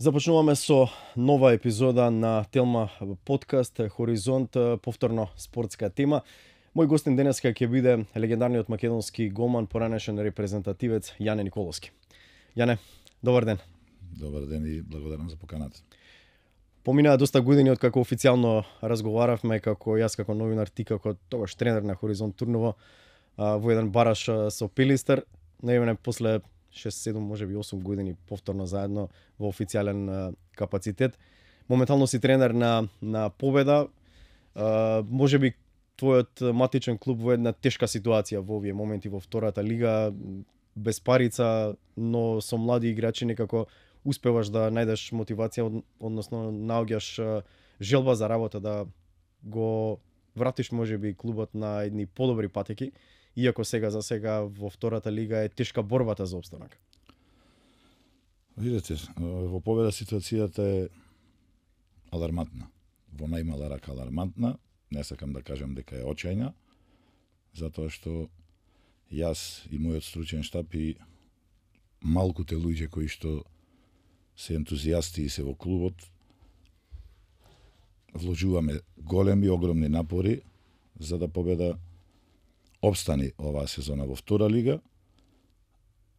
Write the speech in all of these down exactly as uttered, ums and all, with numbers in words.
Започнуваме со нова епизода на Телма подкаст Хоризонт, повторно спортска тема. Мој гостин денеска ќе биде легендарниот македонски голман, поранешен репрезентативец Јане Николовски. Јане, добар ден. Добар ден и благодарам за поканата. Поминаа доста години од како официјално разговаравме, како јас како новинар, ти како тогаш тренер на Хоризонт Турново во еден бараш со Пилистер. Најавне после шест седум, можеби осум години повторно заедно во официјален капацитет. Моментално си тренер на на Победа. А, можеби твојот матичен клуб во една тешка ситуација во овие моменти во втората лига, без парица, но со млади играчи некако успеваш да најдеш мотивација, односно наоѓаш желба за работа да го вратиш можеби клубот на едни подобри патеки. Иако сега за сега во втората лига е тешка борбата за опстанок. Видете, во Победа ситуацијата е алармантна. Во најмала рака алармантна. Не сакам да кажам дека е очајна, затоа што јас и мојот стручен штаб и малкуте луѓе кои што се ентузијасти и се во клубот, вложуваме големи, огромни напори за да Победа обстани оваа сезона во втора лига,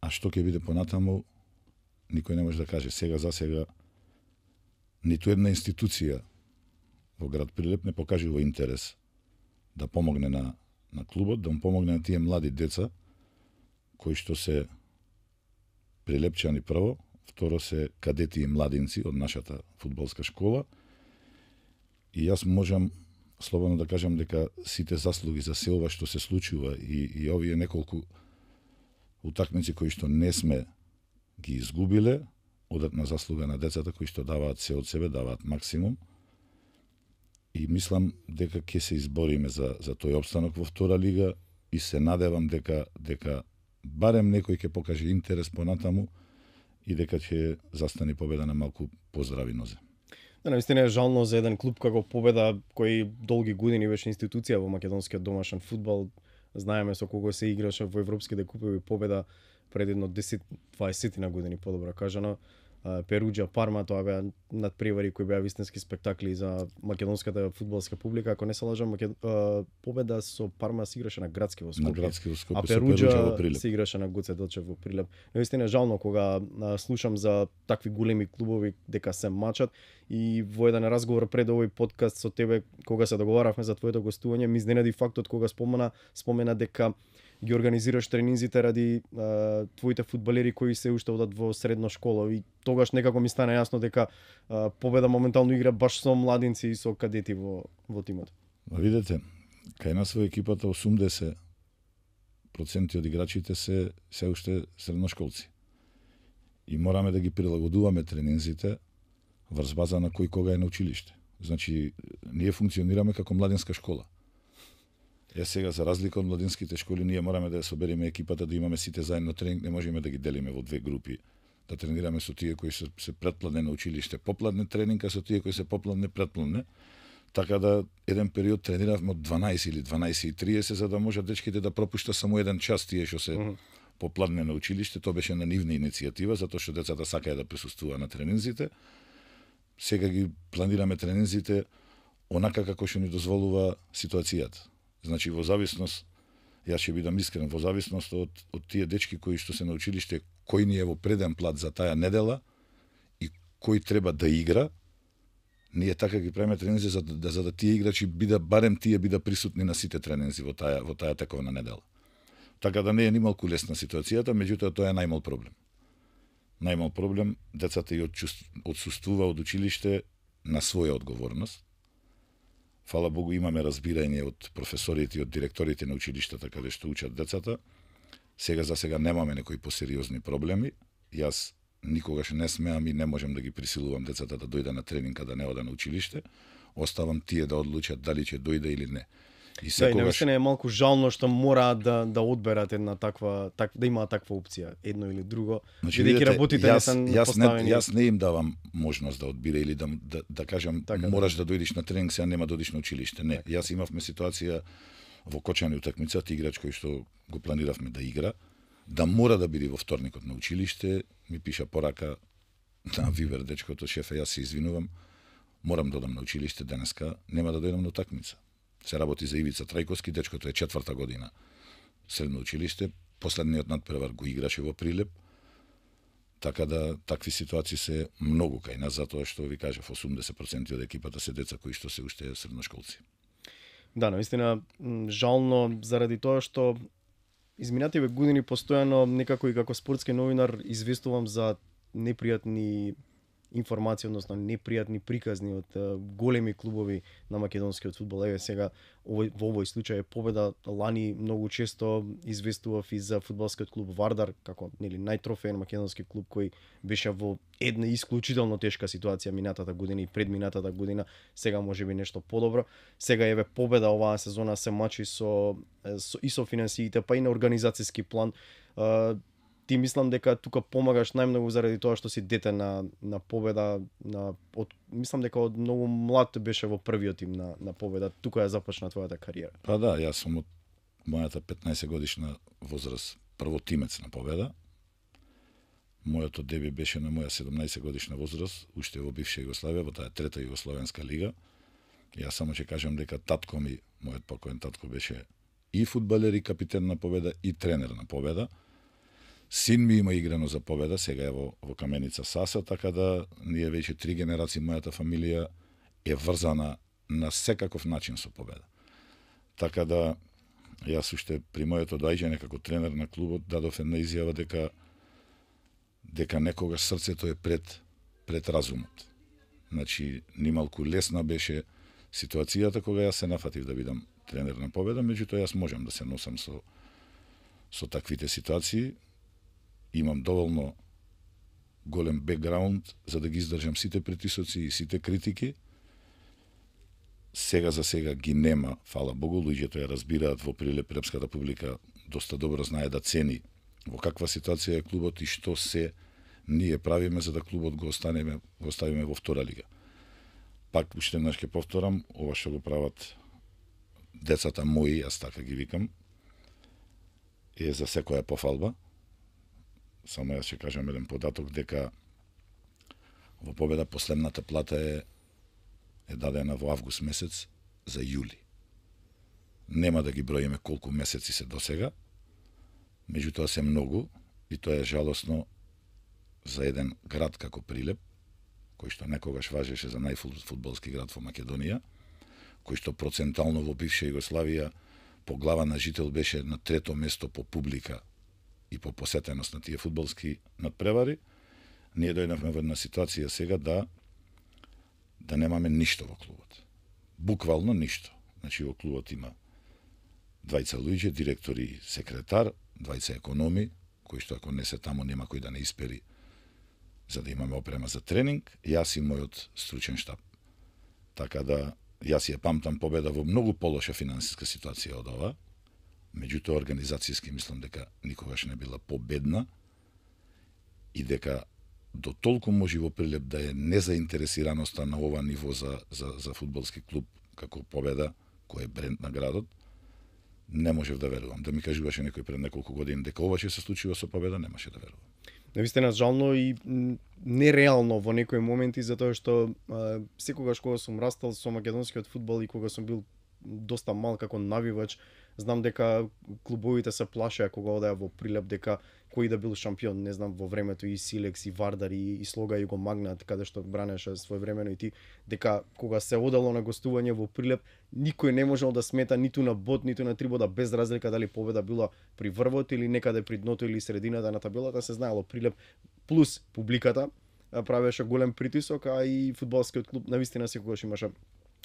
а што ќе биде понатаму, никој не може да каже. Сега за сега ниту една институција во град Прилеп не покажува интерес да помогне на, на клубот, да му помогне на тие млади деца, кои што се прилепчани прво, второ се кадети и младинци од нашата фудбалска школа. И јас можам слободно да кажам дека сите заслуги за се ова што се случува и, и овие неколку утакмици кои што не сме ги изгубиле, одат на заслуга на децата кои што даваат се од себе, даваат максимум. И мислам дека ќе се избориме за, за тој опстанок во втора лига и се надевам дека дека барем некој ќе покаже интерес понатаму и дека ќе застане Победа на малку поздрави нозе. Да, наистина е жално за еден клуб како Победа, кој долги години беше институција во македонскиот домашен фудбал. Знаеме со кого се играше во европските купови Победа пред едно десет-дваесет на години, подобро кажано. Перуџа, Парма, тоа беа надпревари кои беа вистински спектакли за македонската фудбалска публика. Ако не се лажам, Макед... Победа со Парма се играше на градски во Скопје. На градски во Скопје, а Перуџа се играше на Гоце Делчев во Прилеп. Наистина е жално кога слушам за такви големи клубови дека се мачат и во еден разговор пред овој подкаст со тебе, кога се договаравме за твоето гостување, ми изненади фактот кога спомена спомена дека ги организираш тренинзите ради а, твоите фудбалери кои се уште одат во средна школа и тогаш некако ми стана јасно дека а, Победа моментално игра баш со младинци и со кадети во во тимот. Видете, кај нас во екипата осумдесет проценти од играчите се се уште средношколци. И мораме да ги прилагодуваме тренинзите врз база на кој кога е на училиште. Значи, ние функционираме како младинска школа. Е сега, за разлика од младинските школи, ние мораме да ја собериме екипата, да имаме сите заедно тренинг, не можеме да ги делиме во две групи, да тренираме со тие кои се, се претпладне на училиште, попладне тренинг, а со тие кои се попладне претпладне. Така да еден период трениравме од дванаесет или дванаесет и триесет за да може дечките да пропушта само еден час тие што се uh-huh. попладне на училиште. Тоа беше на нивна иницијатива, затоа што децата сакаја да присуствува на тренинзите. Сега ги планираме тренинзите онака како што ни дозволува ситуацијата. Значи, во зависност, јас ќе бидам искрен, во зависност од, од тие дечки кои што се на училиште, кој ни е во преден плат за таа недела и кој треба да игра, ние така ги правиме тренинзи за да, за да тие играчи бида, барем тие бида присутни на сите тренинзи во таа, во таа тековна недела. Така да не е ни малку лесна ситуацијата, меѓутоа тоа е најмал проблем. Најмал проблем, децата и отсуствува од училиште на своја одговорност. Фала Богу, имаме разбирање од професорите и од директорите на училиштата каде што учат децата. Сега за сега немаме некои посериозни проблеми. Јас никогаш не смеам и не можем да ги присилувам децата да дојде на тренинг, да не ода на училиште. Оставам тие да одлучат дали ќе дојде или не. И секогаш... Да, и наистина е малку жално што мора да да одберат една таква так, да имаат таква опција, едно или друго. Значи, видите, работите јас, не јас, не, јас не им давам можност да одбира или да да, да кажам така, мораш да дојдеш на тренинг, сега нема да одиш на училиште. Не, јас имавме ситуација во кочани утакмица, играч кој што го планиравме да игра, да мора да биде во вторникот на училиште, ми пиша порака на Вибер дечкото, шефе, јас се извинувам, морам да одам на училиште денеска, нема да дојдам на утакмица. Се работи за Ивица Трајковски, дечкото е четврта година средно училиште, последниот надпревар го играше во Прилеп, така да такви ситуации се многу кај нас, затоа што ви кажав, осумдесет проценти од екипата се деца кои што се уште средношколци. Да, наистина жално заради тоа што изминативе години постојано некако и како спортски новинар известувам за непријатни информации, односно непријатни приказни од големи клубови на македонскиот фудбал. Еве сега овој, во овој случај е победа. Лани многу често известував и за фудбалскиот клуб Вардар како нели најтрофеен македонски клуб кој беше во една исклучително тешка ситуација минатата година и предминатата година. Сега можеби нешто подобро. Сега еве победа оваа сезона се мачи со, со и со финансиите, па и на организацијски план. Ти мислам дека тука помагаш најмногу заради тоа што си дете на на победа, на од, мислам дека од многу млад беше во првиот тим на на победа. Тука ја започна твојата кариера. Па да, јас сум од мојата петнаесет годишна возраст прво тимец на победа. Мојот деби беше на моја седумнаесет годишна возраст, уште во бивша Југославија, во таа трета југословенска лига. Јас само ќе кажам дека татко ми, мојот покоен татко беше и фудбалер и капитен на победа и тренер на победа. Син ми има играно за победа, сега е во, во Каменица Саса, така да ние веќе три генерации, мојата фамилија е врзана на секаков начин со победа. Така да, јас уште при моето доаѓање како тренер на клубот дадов една изјава дека дека некогаш срцето е пред пред разумот. Значи, нималку лесна беше ситуацијата кога јас се нафатив да бидам тренер на победа, меѓутоа јас можам да се носам со со таквите ситуации. Имам доволно голем бекграунд за да ги издржам сите притисоци и сите критики. Сега за сега ги нема, фала Богу, луѓето ја разбираат во Прилеп, прилепската публика доста добро знае да цени во каква ситуација е клубот и што се ние правиме за да клубот го останеме, го оставиме во втора лига. Пак уште еднаш ќе повторам, ова што го прават децата мои, јас така ги викам, е за секоја пофалба. Само јас ќе кажам еден податок дека во победа последната плата е е дадена во август месец за јули. Нема да ги броиме колку месеци се досега, меѓутоа се многу и тоа е жалосно за еден град како Прилеп, кој што некогаш важеше за најфудбалски град во Македонија, кој што процентално во бивша Југославија по глава на жител беше на трето место по публика и по посетеност на тие фудбалски надпревари. Ние дојдовме во една ситуација сега да да немаме ништо во клубот. Буквално ништо. Значи во клубот има двајца луѓе, директор и секретар, двајца економи, кои што ако не се таму нема кој да не испери за да имаме опрема за тренинг, јас и мојот стручен штаб. Така да јас ја памтам победа во многу полоша финансиска ситуација од ова, меѓутоа организацијски мислам дека никогаш не била победна и дека до толку може во Прилеп да е незаинтересираноста на ова ниво за, за, за фудбалски клуб како победа, кој е бренд на градот, не можев да верувам. Да ми кажуваше некој пред неколку години дека ова ќе се случува со победа, немаше да верувам. Навистина жално и нереално во некои моменти, затоа што а, секогаш кога сум растал со македонскиот фудбал и кога сум бил доста мал како навивач, знам дека клубовите се плашеа кога одеа во Прилеп дека кој да бил шампион, не знам, во времето и Силекс и Вардар и, и Слога и го Магнат, каде што бранеше своевремено и ти, дека кога се одело на гостување во Прилеп, никој не можел да смета ниту на бод, ниту на трибода, без разлика дали победа била при врвот или некаде при дното или средината на табелата, се знаело Прилеп плюс публиката правеше голем притисок, а и фудбалскиот клуб навистина секогаш имаше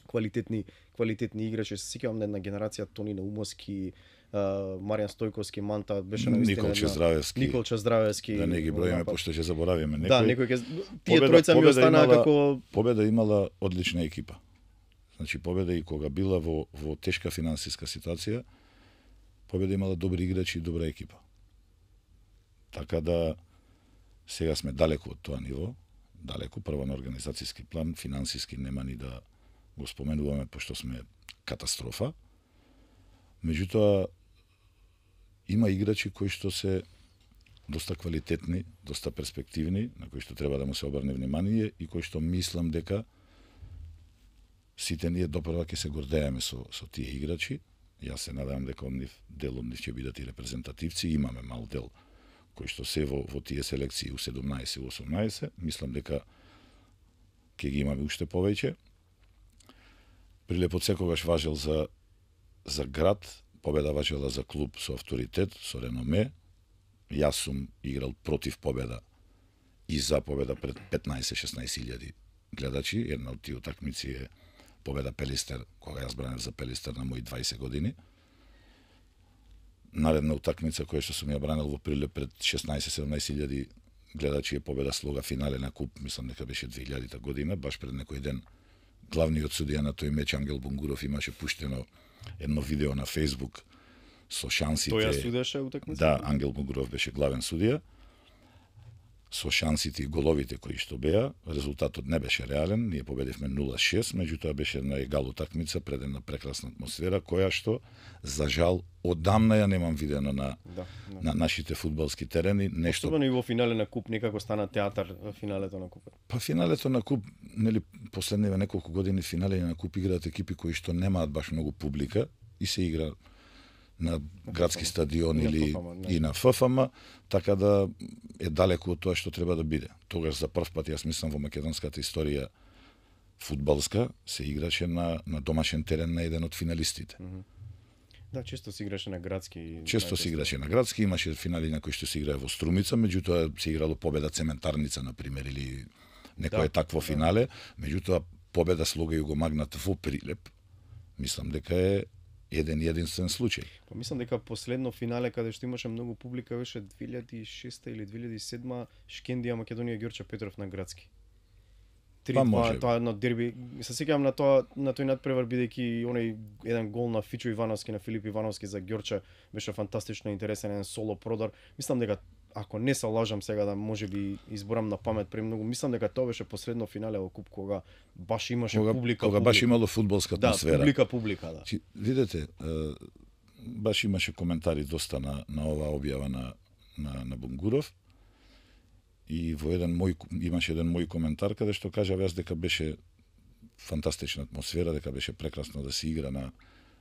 квалитетни квалитетни играчи. Се сеќавам на една генерација Тони Наумовски, Маријан Стојковски, Манта, беше навистина Николче Здравевски. Николче Здравевски. Да не ги броиме пошто ќе заборавиме некој. Да, некој ќе тие тројца ми останаа како Победа имала одлична екипа. Значи Победа и кога била во во тешка финансиска ситуација, Победа имала добри играчи и добра екипа. Така да сега сме далеку од тоа ниво, далеку прво на организацијски план, финансиски нема ни да го споменуваме пошто сме катастрофа. Меѓутоа има играчи кои што се доста квалитетни, доста перспективни, на кои што треба да му се обрне внимание и кои што мислам дека сите ние допрва ќе се гордееме со, со тие играчи. Јас се надевам дека од нив, дел од нив ќе бидат и репрезентативци, имаме мал дел кои што се во, во тие селекции у седумнаесет, у осумнаесет, мислам дека ќе ги имаме уште повеќе. Прилепот секогаш важел за, за град, победа важела за клуб со авторитет, со реноме. Јас сум играл против победа и за победа пред петнаесет-шеснаесет илјади гледачи. Една од тие утакмици е победа Пелистер, кога јас бранев за Пелистер на мои дваесет години. Наредна утакмица која што сум ја бранел во Прилеп пред шеснаесет-седумнаесет илјади гледачи е победа Слога финале на куп, мислам дека беше две илјадита година, баш пред некој ден главниот судија на тој меч Ангел Бунгуров имаше пуштено едно видео на Facebook со шансите. Тој ја судеше утакмицата? Да, Ангел Бунгуров беше главен судија. Со шансите и головите кои што беа, резултатот не беше реален, ние победивме нула шест, меѓутоа беше една егал утакмица пред една прекрасна атмосфера која што за жал одамна ја немам видено на да, да. на нашите фудбалски терени, нешто. Особено и во финале на куп некако стана театар финалето на купот. Па финалето на куп, нели последниве неколку години финале на куп играат екипи кои што немаат баш многу публика и се игра на градски стадион или и на Ф Ф М, така да е далеку од тоа што треба да биде. Тогаш за прв пат, јас мислам, во македонската историја фудбалска се играше на, на домашен терен на еден од финалистите. Mm -hmm. Да, често се играше на градски. Често се играше на градски, имаше финали на кои што се играе во Струмица, меѓутоа се играло победа Цементарница, на пример, или некое да, такво финале, меѓутоа победа Слога Југомагнат во Прилеп, мислам дека е еден единствен случај. Па мислам дека последно финале каде што имаше многу публика беше две илјади и шеста или две илјади и седма Шкендија Македонија Ѓорче Петров на градски. Па може. Тоа едно дерби. Се сеќавам на тоа на тој надпревар бидејќи оној еден гол на Фичо Ивановски, на Филип Ивановски за Ѓорче беше фантастично интересен, еден соло продар. Мислам дека ако не се лажам сега да можеби изборам на памет премногу, мислам дека тоа беше последно финале во куп кога баш имаше кога, публика, кога публика. баш имало фудбалска атмосфера. Да, публика, публика, да. Чи, видете, баш имаше коментари доста на на оваа објава на на на Бунгуров. И во еден мој имаше еден мој коментар каде што кажа јас дека беше фантастична атмосфера, дека беше прекрасно да се игра на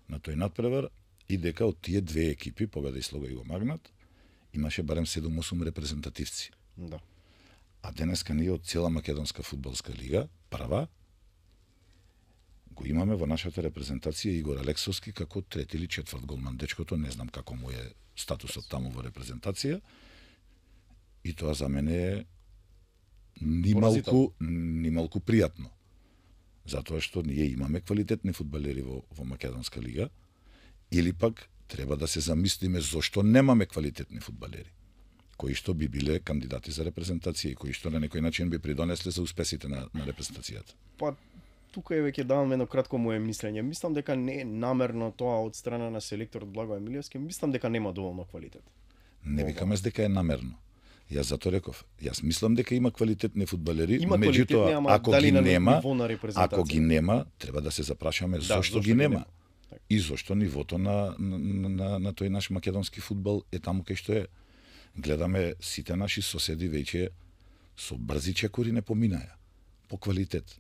на тој надпревар и дека од тие две екипи, Победа и Слога Југомагнат, имаше барем седум-осум репрезентативци. Да. А денеска ние од цела македонска фудбалска лига, прва, го имаме во нашата репрезентација Игор Алексовски како трети или четврт голман. Дечкото не знам како му е статусот таму во репрезентација. И тоа за мене е нималку, нималку пријатно. Затоа што ние имаме квалитетни фудбалери во, во Македонска лига, или пак треба да се замислиме зошто немаме квалитетни фудбалери, кои што би биле кандидати за репрезентација и кои што на некој начин би придонесле за успесите на, на репрезентацијата. Па, тука е веќе давам едно кратко моје мислење. Мислам дека не е намерно тоа од страна на селекторот Благо Емилиевски, мислам дека нема доволно квалитет. Не викаме дека е намерно. Јас затоа реков, јас мислам дека има квалитетни фудбалери, има меѓутоа ама ако дали ги на нема, на ако ги нема, треба да се запрашаме да, зошто ги нема. И зошто нивото на, на, на, на тој наш македонски фудбал е таму кај што е. Гледаме сите наши соседи веќе со брзи чекори не поминаја. По квалитет,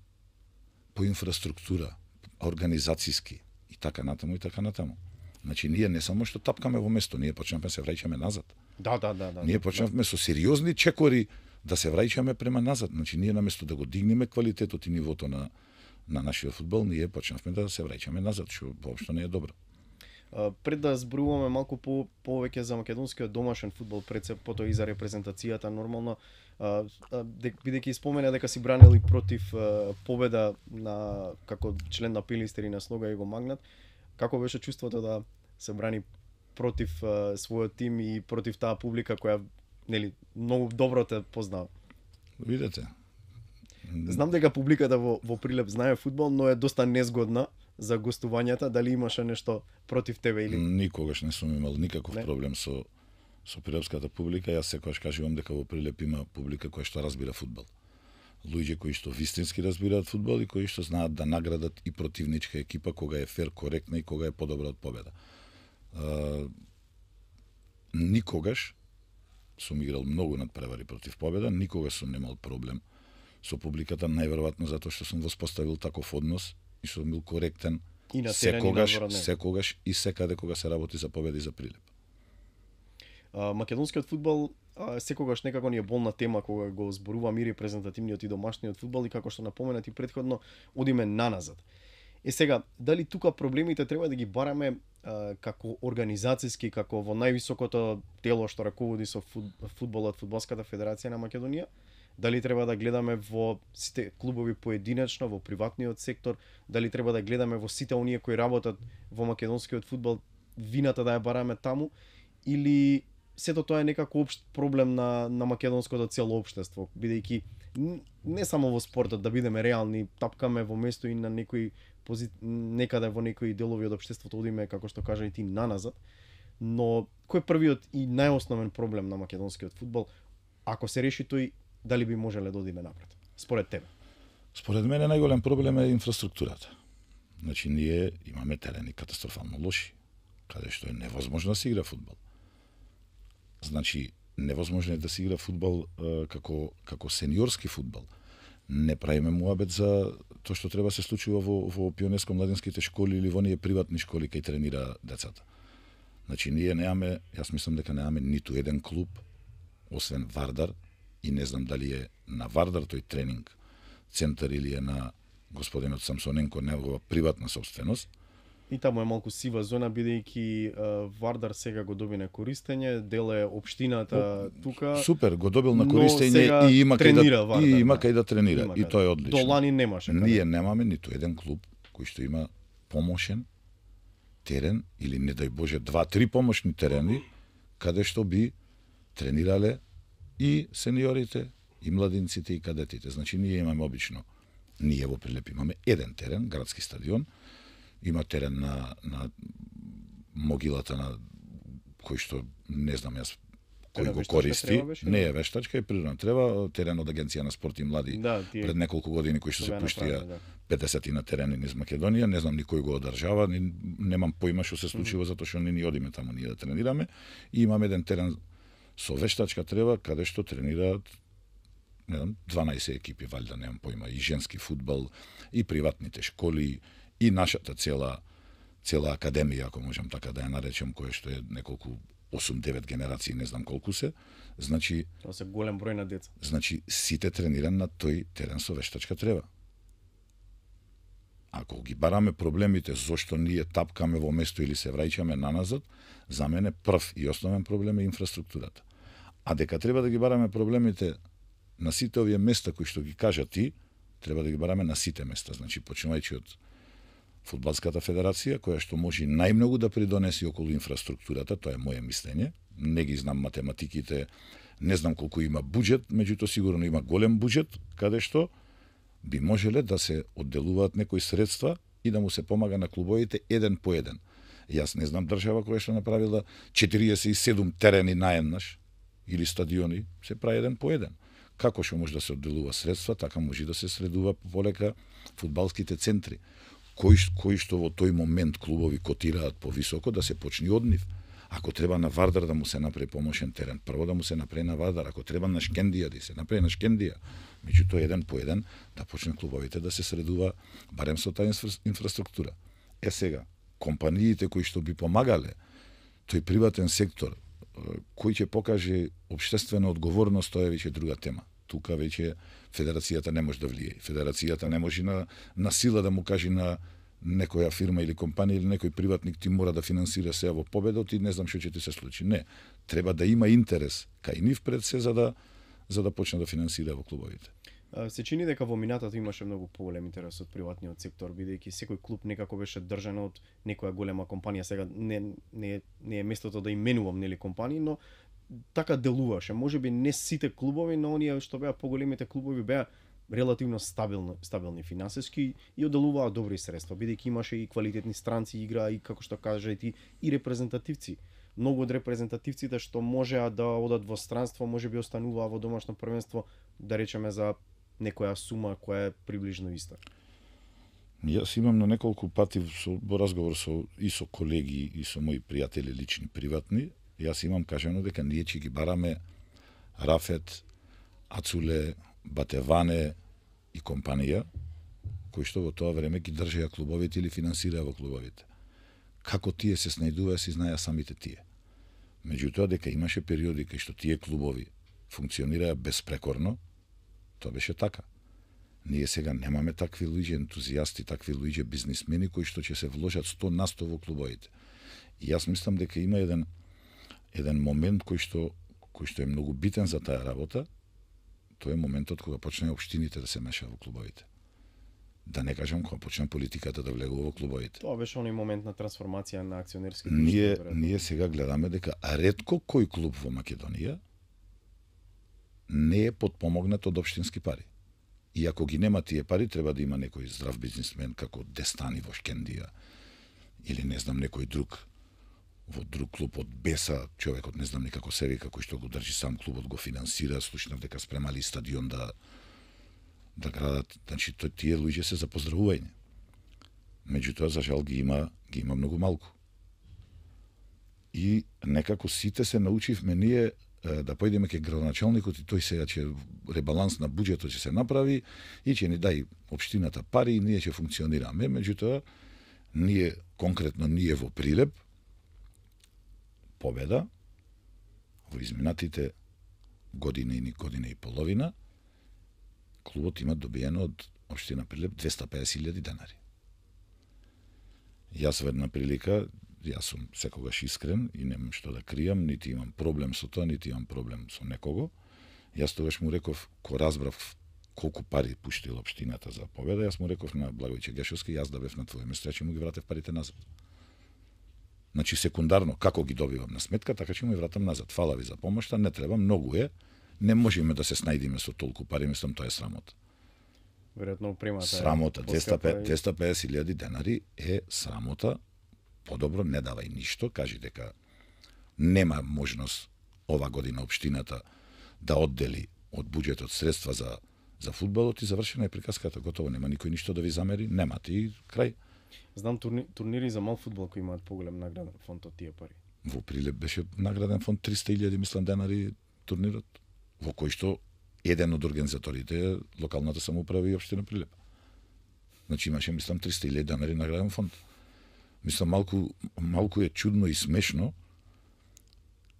по инфраструктура, организацијски и така натаму и така натаму. Значи ние не само што тапкаме во место, ние почнавме се враќаме назад. Да, да, да, да. Ние почнавме да. со сериозни чекори да се враќаме према назад. Значи ние наместо да го дигнеме квалитетот и нивото на на нашиот фудбал, ние почнавме да се враќаме назад, што воопшто не е добро. Uh, пред да зборуваме малку по повеќе за македонскиот домашен фудбал, пред се потоа и за репрезентацијата нормално, uh, uh, бидејќи спомена дека си бранели против uh, победа на како член на Пилистер и на Слога Југомагнат, како беше чувството да се брани против uh, својот тим и против таа публика која нели многу добро те познава? Видете. Знам дека публиката во во Прилеп знае фудбал, но е доста незгодна за гостувањата. Дали имаше нешто против тебе или? Никогаш не сум имал никаков не? проблем со со прилепската публика. Јас секогаш кажувам дека во Прилеп има публика која што разбира фудбал. Луѓе кои што вистински разбираат фудбал и кои што знаат да наградат и противничка екипа кога е фер, коректна и кога е подобра од победа. Uh, никогаш сум играл многу надпревари против победа, никога сум немал проблем со публиката, најверојатно затоа што сум воспоставил таков однос и сум бил коректен и на секогаш, секогаш и секаде кога се работи за победа и за прилеп. А, македонскиот фудбал а, секогаш некако ни е болна тема кога го зборувам и репрезентативниот и домашниот фудбал и како што напоменати претходно, одиме наназад. Е сега, дали тука проблемите треба да ги бараме а, како организацијски, како во највисокото тело што раководи со фудбалот, Фудбалската федерација на Македонија? Дали треба да гледаме во сите клубови поединечно, во приватниот сектор? Дали треба да гледаме во сите оние кои работат во македонскиот фудбал, вината да ја бараме таму? Или сето тоа е некако општ проблем на, на македонското цело општество, бидејќи не само во спортот, да бидеме реални, тапкаме во место и на некои пози... некаде во некои делови од општеството одиме, како што кажа и ти, наназад. Но кој е првиот и најосновен проблем на македонскиот фудбал? Ако се реши тој, дали би можеле да одиме напред? Според тебе? Според мене најголем проблем е инфраструктурата. Значи ние имаме терени катастрофално лоши, каде што е невозможно да се игра фудбал. Значи невозможно е да се игра фудбал е, како како сениорски фудбал. Не правиме муабет за тоа што треба се случува во во пионерско-младинските школи или во оние приватни школи кај тренира децата. Значи ние немаме, јас мислам дека немаме ниту еден клуб освен Вардар, и не знам дали е на Вардар тој тренинг центар или е на господинот Самсоненко, негова приватна собственост. И таму е малку сива зона, бидејќи Вардар сега го доби на користење, дел е општината тука. Супер, го добил на користење и има кај да Вардар, и има кај да тренира, има и тоа е одлично. До лани немаше. Ние немаме ниту еден клуб кој што има помошен терен или не дај Боже два-три помошни терени каде што би тренирале и сениорите, и младинците, и кадетите. Значи ние имаме обично, ние во Прилеп имаме еден терен, градски стадион, има терен на, на могилата на кој што не знам јас кој го користи, не е вештачка, е природна трева, терен од Агенција на спорт и млади да, тие... пред неколку години кои што се пуштија да. педесет на терени низ Македонија, не знам никој го одржава, ни, немам поима што се случува mm -hmm. затоа што не ни одиме таму ние да тренираме и имаме еден терен со вештачка трева каде што тренираат не знам дванаесет екипи, валјда немам поима, и женски фудбал, и приватните школи, и нашата цела цела академија, ако можам така да ја наречем, која што е неколку осум-девет генерации, не знам колку се. Значи тоа се голем број на деца. Значи сите трениран на тој терен со вештачка трева. Ако ги бараме проблемите зошто ние тапкаме во место или се враќаме наназад, за мене прв и основен проблем е инфраструктурата. А дека треба да ги бараме проблемите на сите овие места кои што ги кажа ти, треба да ги бараме на сите места. Значи, почнувајќи од Фудбалската федерација, која што може најмногу да придонеси околу инфраструктурата, тоа е моје мислење. Не ги знам математиките, не знам колку има буџет, меѓуто сигурно има голем буџет, каде што би можеле да се одделуваат некои средства и да му се помага на клубовите еден по еден. Јас не знам држава која што направила четириесет и седум терени наеднаш или стадиони, се прави еден по еден. Како што може да се одделува средства, така може да се средува полека фудбалските центри, кои, кои што во тој момент клубови котираат повисоко, да се почне од нив. Ако треба на Вардар да му се направи помошен терен, прво да му се направи на Вардар, ако треба на Шкендија да се направи на Шкендија, меѓуто еден по еден да почне клубовите да се средува барем со таа инфра... инфраструктура. Е сега, компаниите кои што би помагале, тој приватен сектор, кој ќе покаже општествена одговорност, тоа е веќе друга тема. Тука веќе федерацијата не може да влие. Федерацијата не може на, на сила да му каже на некоја фирма или компанија или некој приватник ти мора да финансира се во победот и не знам што ќе ти се случи. Не, треба да има интерес кај нив пред се за да за да почне да финансира во клубовите. Се чини дека во минатото имаше многу поголем интерес од приватниот сектор, бидејќи секој клуб некако беше држан од некоја голема компанија. Сега не не не е местото да именувам нели компании, но така делуваше. Можеби не сите клубови, но оние што беа поголемите клубови беа релативно стабилни, стабилни финансиски и одделуваа добри средства, бидејќи имаше и квалитетни странци игра и како што кажа и ти и репрезентативци. Многу од репрезентативците што можеа да одат во странство, можеби остануваа во домашно првенство, да речеме за некоја сума која е приближно иста. Јас имам на неколку пати со, во разговор со и со колеги и со мои пријатели лични, приватни, јас имам кажано дека ние ќе ги бараме Рафет, Ацуле, Батеване и компанија, кои што во тоа време ги држеа клубовите или финансираа во клубовите. Како тие се снајдуваа, си знаеа самите тие. Меѓутоа, дека имаше периоди кај што тие клубови функционираа безпрекорно, тоа беше така. Ние сега немаме такви луѓе ентузијасти, такви луѓе бизнисмени кои што ќе се вложат сто на сто во клубовите. И јас мислам дека има еден еден момент кој што кој што е многу битен за таа работа, тоа е моментот кога почне општините да се мешаат во клубовите. Да не кажам кога почне политиката да влегува во клубовите. Тоа беше оној момент на трансформација на акционерски друштва. Ние ние сега гледаме дека ретко кој клуб во Македонија не е подпомогнат од општински пари. И ако ги нема тие пари, треба да има некој здрав бизнисмен како Дестани во Шкендија или не знам некој друг во друг клуб од Беса, човекот не знам ни како се вика, кој што го држи сам клубот, го финансира, слушнав дека спремали стадион да да градат, значи тие луѓе се за поздравување. Меѓутоа за жал ги има ги има многу малку. И некако сите се научивме ние да појдеме ке градоначалникот и тој сега ќе ребаланс на буџетот ќе се направи и ќе ни дај општината пари и ние ќе функционираме. Меѓутоа ние конкретно ние во Прилеп Победа во изминатите година и година и половина клубот има добиено од општина Прилеп двесте и педесет илјади денари. Јас во една прилика, јас сум секогаш искрен и немам што да кријам, нити имам проблем со тоа, нити имам проблем со некого. Јас тогаш му реков, ко разбрав колку пари пуштила општината за Победа, јас му реков на Благојче Гешовски, јас да бев на твое место, ќе му ги вратев парите назад. Значи секундарно, како ги добивам на сметка, така ќе му ги вратам назад. Фала ви за помошта, не треба, многу е. Не можеме да се снајдиме со толку пари, мислам, тоа е срамота. Веројатно примата срамота, двесте и педесет илјади денари е срамота. Подобро не давај ништо, кажи дека нема можност ова година општината да оддели од буџетот средства за за фудбалот и завршена е приказката, готово, нема никој ништо да ви замери, немате и крај. Знам турни, турнири за мал фудбал кои имаат поголем награден фонд од тие пари. Во Прилеп беше награден фонд триста илјади мислам денари турнирот, во кој што еден од организаторите е локалната самоуправа и општина Прилеп. Значи имаше мислам триста илјади денари награден фонд. Мислам малку малку е чудно и смешно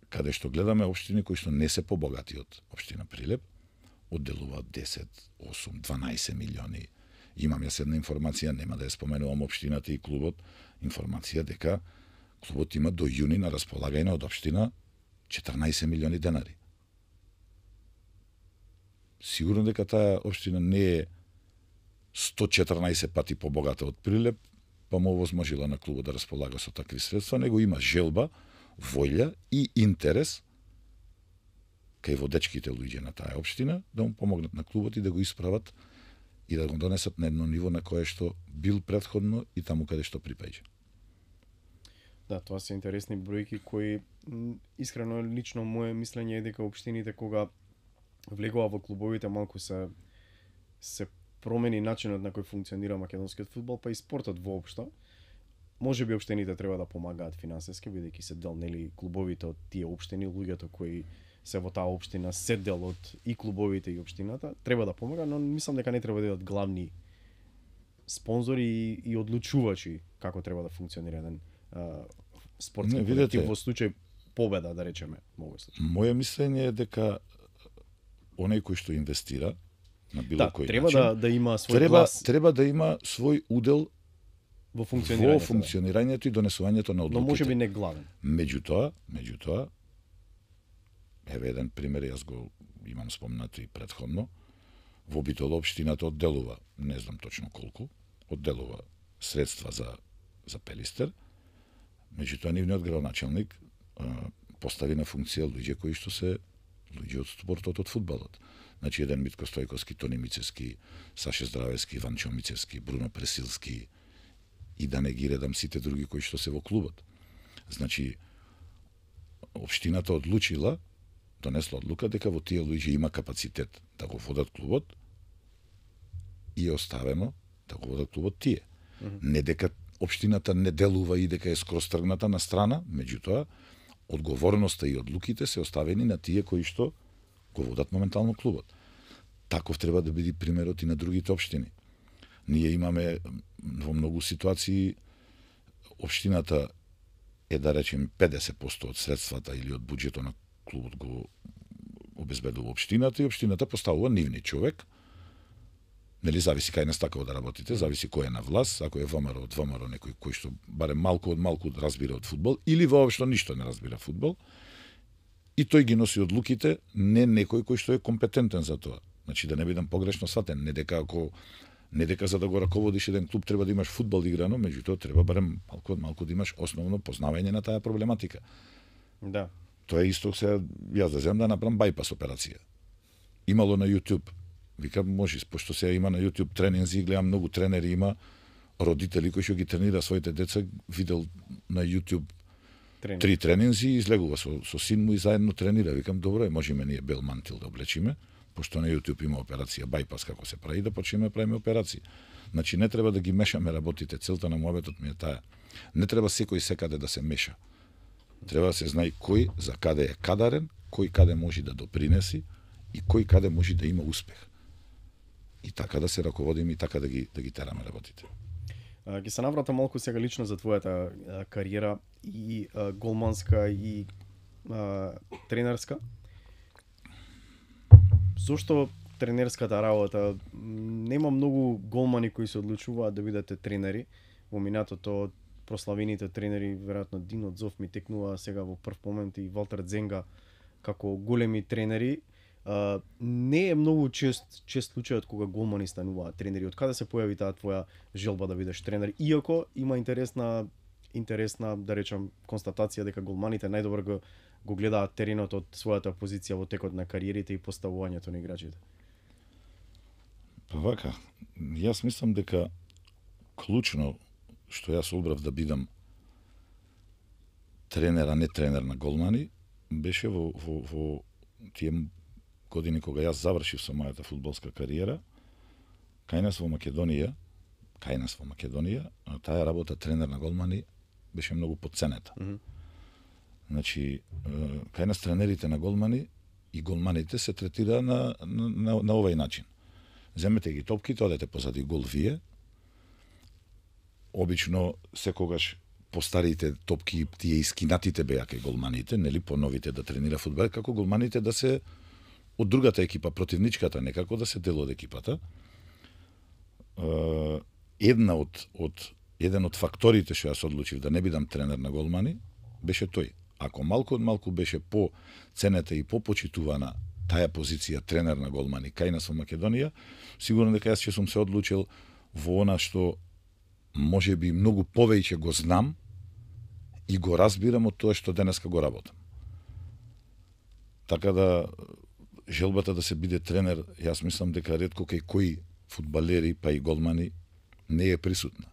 каде што гледаме општини кои што не се побогати од општина Прилеп, одделуваат десет, осум, дванаесет милиони. Имам јас една информација, нема да ја споменувам општината и клубот, информација дека клубот има до јуни на располагање од општина четрнаесет милиони денари. Сигурно дека таа општина не е сто и четрнаесет пати побогата од Прилеп, па му овозможила на клубот да располага со такви средства, него има желба, волја и интерес кај водечките луѓе на таа општина да му помогнат на клубот и да го исправат и да го донесат на едно ниво на кое што бил претходно и таму каде што припаѓа. Да, тоа се интересни бројки кои искрено лично мое мислење е дека општините кога влегува во клубовите малку се се промени начинот на кој функционира македонскиот фудбал, па и спортот воопшто. Можеби општините треба да помагаат финансиски, бидејќи се дел нели клубовите од тие општини, луѓето кои се во таа општина се дел од и клубовите и општината, треба да помага, но мислам дека не треба да бидат главни спонзори и, и одлучувачи како треба да функционира еден спортски колектив во случај Победа, да речеме, мој случај. Моје мислење е дека оној кој што инвестира на било да, кој треба начин, да да има свој треба, глас. Треба да има свој удел во функционирањето, во функционирањето и донесувањето на одлуките. Но можеби не главен. Меѓутоа, меѓутоа еве еден пример, јас го имам спомнато и претходно. Во Битола општината одделува, не знам точно колку, одделува средства за за Пелистер. Меѓутоа нивниот градоначалник постави на функција луѓе кои што се луѓе од спортот, од фудбалот. Значи еден Митко Стојковски, Тони Мицевски, Саше Здравевски, Ванчо Мицевски, Бруно Пресилски и да не ги редам сите други кои што се во клубот. Значи општината одлучила, донесла одлука дека во тие луѓе има капацитет да го водат клубот и е оставено да го водат клубот тие. Mm-hmm. Не дека општината не делува и дека е скроз тргната на страна, меѓутоа одговорноста и одлуките се оставени на тие кои што го водат моментално клубот. Таков треба да биде примерот и на другите општини. Ние имаме во многу ситуации општината е, да речем, педесет проценти од средствата или од буџетот на клубот го обезбедува општината и општината поставува нивни човек. Нели, зависи кај не стакава да работите, зависи кој е на власт, ако е ВМРО од ВМРО, некој кој што барем малку од малку разбира од фудбал, или воопшто ништо не разбира фудбал, и тој ги носи одлуките, не некој кој што е компетентен за тоа. Значи, да не бидам погрешно сватен, не дека ако не дека за да го раководиш еден клуб треба да имаш фудбал играно, меѓутоа треба барем малку од малку да имаш основно познавање на таа проблематика. Да. Тоа е исто сега, јас да земам да направам байпас операција. Имало на YouTube. Викам, може, пошто сега има на YouTube тренинзи, гледам многу тренери, има родители кои што ги тренира своите деца, видел на YouTube Тренинг. три тренинзи и излегува со, со син му и заедно тренира. Викам, добро е, можеме ние бел мантил да облечиме, пошто на YouTube има операција байпас како се прави, да почнеме да правиме операции. Значи не треба да ги мешаме работите, целта на муабетот ми е таа. Не треба секој секаде да се меша. Треба да се знае кој за каде е кадарен, кој каде може да допринеси и кој каде може да има успех. И така да се раководиме и така да ги да ги тераме работите. А, ги се наврата малку сега лично за твојата а, кариера и а, голманска и а, тренерска. Зошто тренерската работа? Нема многу голмани кои се одлучуваат да бидете тренери. Во минатото прославените тренери, веројатно Дино Зов ми текнува сега во прв момент и Валтер Дзенга како големи тренери. Uh, не е многу чест чест случајот кога голмани стануваат тренери. Од каде се појави таа твоја желба да бидеш тренер? Иако има интересна интересна да речам констатација дека голманите најдобро го, го гледаат теренот од својата позиција во текот на кариерите и поставувањето на играчите. Па вака, јас мислам дека клучно што јас одбрав да бидам тренер, а не тренер на голмани, беше во во во тие години кога јас завршив со мојата фудбалска кариера, кај нас во Македонија, кај нас во Македонија, таа работа тренер на голмани беше многу потценета. Mm -hmm. Значи, кај нас тренерите на голмани и голманите се третира на, на, на, на овај начин. Земете ги топките, одете позади гол вие. Обично, секогаш по старите топки, тие искинатите беа кај голманите, нели, по новите да тренира фудбал, како голманите да се од другата екипа, противничката, некако да се дел од екипата. Една од, од, еден од факторите што јас одлучив да не бидам тренер на голмани, беше тој. Ако малку од малку беше по ценета и по почитувана таа позиција тренер на голмани кај нас во Македонија, сигурно дека јас ќе сум се одлучил во она што може би многу повеќе го знам и го разбирам од тоа што денеска го работам. Така да желбата да се биде тренер, јас мислам дека ретко кај кои фудбалери па и голмани не е присутна.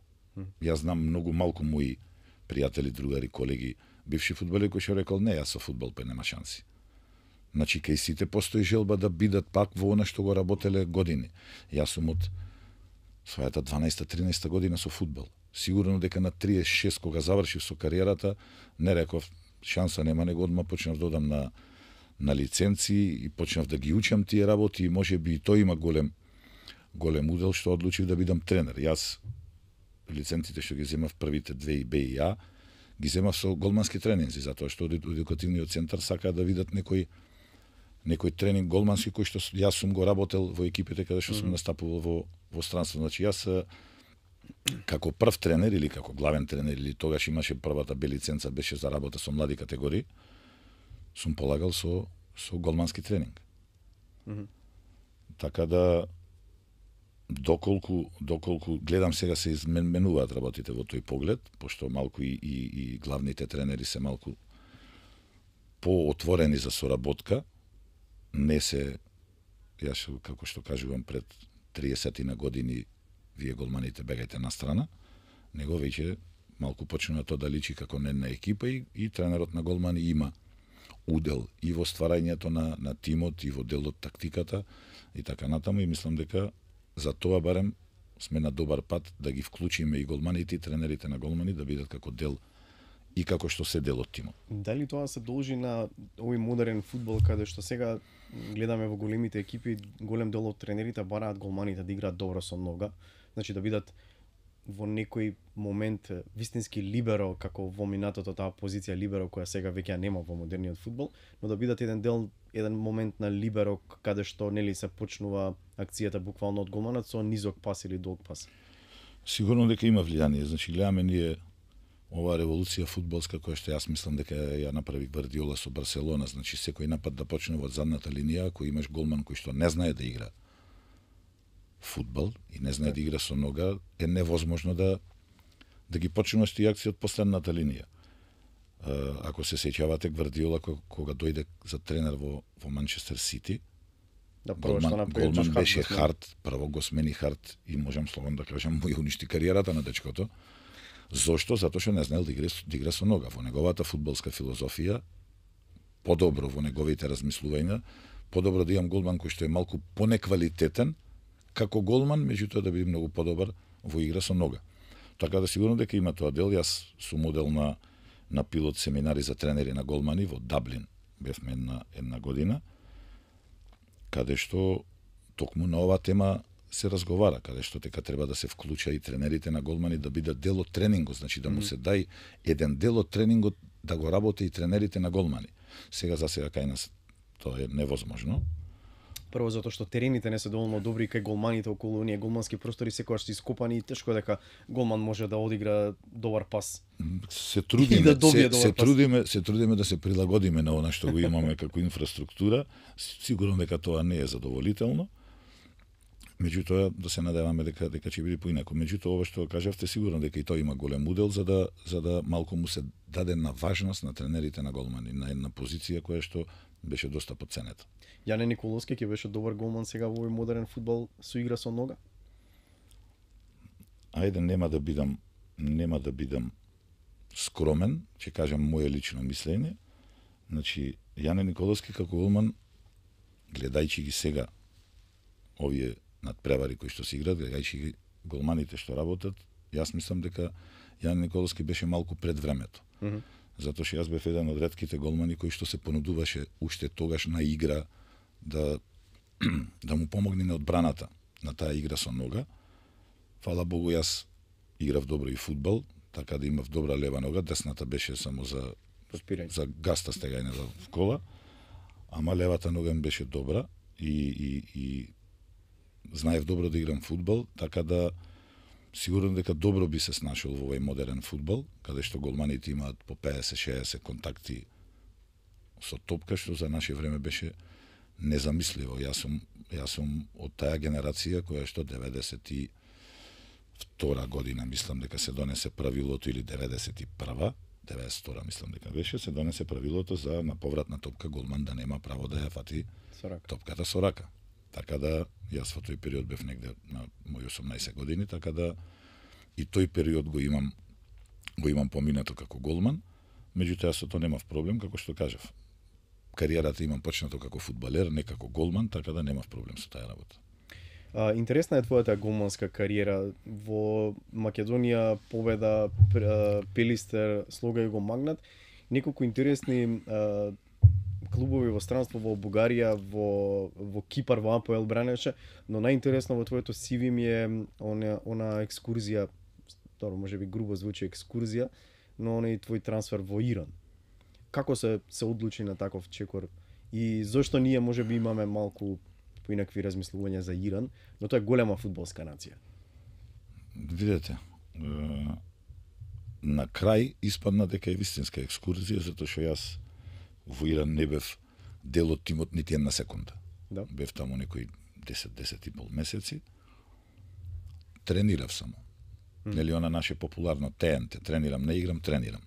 Јас знам многу малку мои пријатели, другари, колеги, бивши фудбалери кои што рекол не, јас со фудбал па нема шанси. Значи кај сите постои желба да бидат пак во она што го работеле години. Јас сум од својата дванаесета-тринаесета година со фудбал. Сигурно дека на триесет и шест кога завршив со кариерата, не реков шанса нема, него одма почнав да одам на на лиценци и почнав да ги учам тие работи и може би и тој има голем голем удел што одлучив да бидам тренер. Јас лиценците што ги земав првите две и Б и А ги земав со голмански тренинзи, затоа што едукативниот центар сака да видат некој некој тренинг голмански кој што јас сум го работел во екипите каде што сум mm -hmm. настапувал во во странство. Значи јас како прв тренер или како главен тренер или тогаш имаше првата Б лиценца беше за работа со млади категории, сум полагал со со голмански тренинг. Mm -hmm. Така да доколку доколку гледам сега се изменуваат работите во тој поглед, пошто малку и, и, и главните тренери се малку поотворени за соработка, не се, јас како што кажувам пред триесет на години вие голманите бегајте на страна, него веќе малку почнува тоа да личи како недна екипа и, и тренерот на голмани има удел и во стварањето на, на тимот и во делот тактиката и така натаму и мислам дека за тоа барем сме на добар пат да ги вклучиме и голманите и тренерите на голмани да бидат како дел и како што се дел од тимот. Дали тоа се должи на овој модерен фудбал каде што сега гледаме во големите екипи, голем дел од тренерите бараат голманите да играат добро со нога, значи да бидат во некој момент вистински либеро, како во минатото таа позиција либеро која сега веќе нема во модерниот фудбал, но да бидат еден дел, еден момент на либеро каде што нели се почнува акцијата буквално од голманот со низок пас или долг пас. Сигурно дека има влијание, значи гледаме ние оваа револуција фудбалска која што јас мислам дека ја направи Гвардиола со Барселона, значи секој напад да почне од задната линија, ако имаш голман кој што не знае да игра фудбал и не знае да игра со нога, е невозможно да да ги почнуваш тие акции од последната линија. Ако се сеќавате Гвардиола кога дојде за тренер во во Манчестер Сити, да, голман, голман беше Харт, прво го смени Харт и можам слободно да кажам му ја уништи кариерата на дечкото. Зошто? Затоа што не знаел да игра, да игра со нога. Во неговата фудбалска филозофија, подобро во неговите размислувања, подобро да имам голман кој што е малку понеквалитетен како голман, меѓутоа да биде многу подобар во игра со нога. Така да сигурно дека има тоа дел. Јас сум модел на на пилот семинари за тренери на голмани во Даблин. Бевме една една година каде што токму на оваа тема се разговара, каде што дека треба да се вклуча и тренерите на голмани да бидат дел од тренингот, значи да му се дај еден дел од тренингот да го работи и тренерите на голмани. Сега за сега кај нас тоа е невозможно. Прво затоа што терените не се доволно добри кај голманите околу оние голмански простори секогаш се ископани и тешко дека голман може да одигра добар пас. Се трудиме, да се, се пас. трудиме, се трудиме да се прилагодиме на она што го имаме како инфраструктура. Сигурно дека тоа не е задоволително. Меѓутоа да се надеваме дека дека ќе биде поинаку. Меѓутоа ова што кажавте сигурно дека и тоа има голем удел за да за да малку му се даде на важност на тренерите на голмани, на една позиција која што беше доста потценета. Јане Николовски ќе беше добар голман сега во овој модерен фудбал со игра со нога? Ајде нема да бидам нема да бидам скромен, ќе кажам моје лично мислење. Значи Јане Николовски како голман, гледајќи ги сега овие надпревари кои што се играат, гледајќи ги голманите што работат, јас мислам дека Јане Николовски беше малку пред времето. Mm -hmm. Затоа што јас бев еден од ретките голмани кои што се понудуваше уште тогаш на игра да да му помогне на одбраната на таа игра со нога. Фала Богу, јас играв добро и фудбал, така да имав добра лева нога, десната беше само за Поспирање. за гаста стегање в кола, ама левата нога ми беше добра и и и знаев добро да играм фудбал, така да сигурно дека добро би се снашол во овој модерен фудбал, каде што голманите имаат по педесет шеесет контакти со топка, што за наше време беше незамисливо. Јас сум јас сум од таа генерација која што деветдесет и втора година мислам дека се донесе правилото, или деветдесет и прва, деветдесет и втора мислам дека беше, се донесе правилото за на повратна топка голман да нема право да ја фати Со рака. топката со рака. Така да јас во тој период бев негде на мои осумнаесет години, така да и тој период го имам го имам поминато како голман. Меѓутоа со тоа немав проблем, како што кажав. Кариерата имам почнато како фудбалер, не како голман, така да немав проблем со таа работа. А, интересна е твојата голманска кариера. Во Македонија победа Пелистер, Слога и го Магнат. Неколку интересни а, клубови во странство, во Бугарија, во во Кипар, во АПЛ бранеше, но најинтересно во твоето си ви ми е она она екскурзија, добро, можеби грубо звучи екскурзија, но оној твој трансфер во Иран. Како се се одлучи на таков чекор и зошто ние можеби имаме малку поинакви размислувања за Иран, но тоа е голема фудбалска нација. Видете, на крај испадна дека е вистинска екскурзија, затоа што јас во Иран не бев дел од тимот нити една секунда. Да. Бев таму некои десет до десет и пол месеци. Тренирав само. Mm. Нели она наше популарно Т Н Т, тренирам, не играм, тренирам.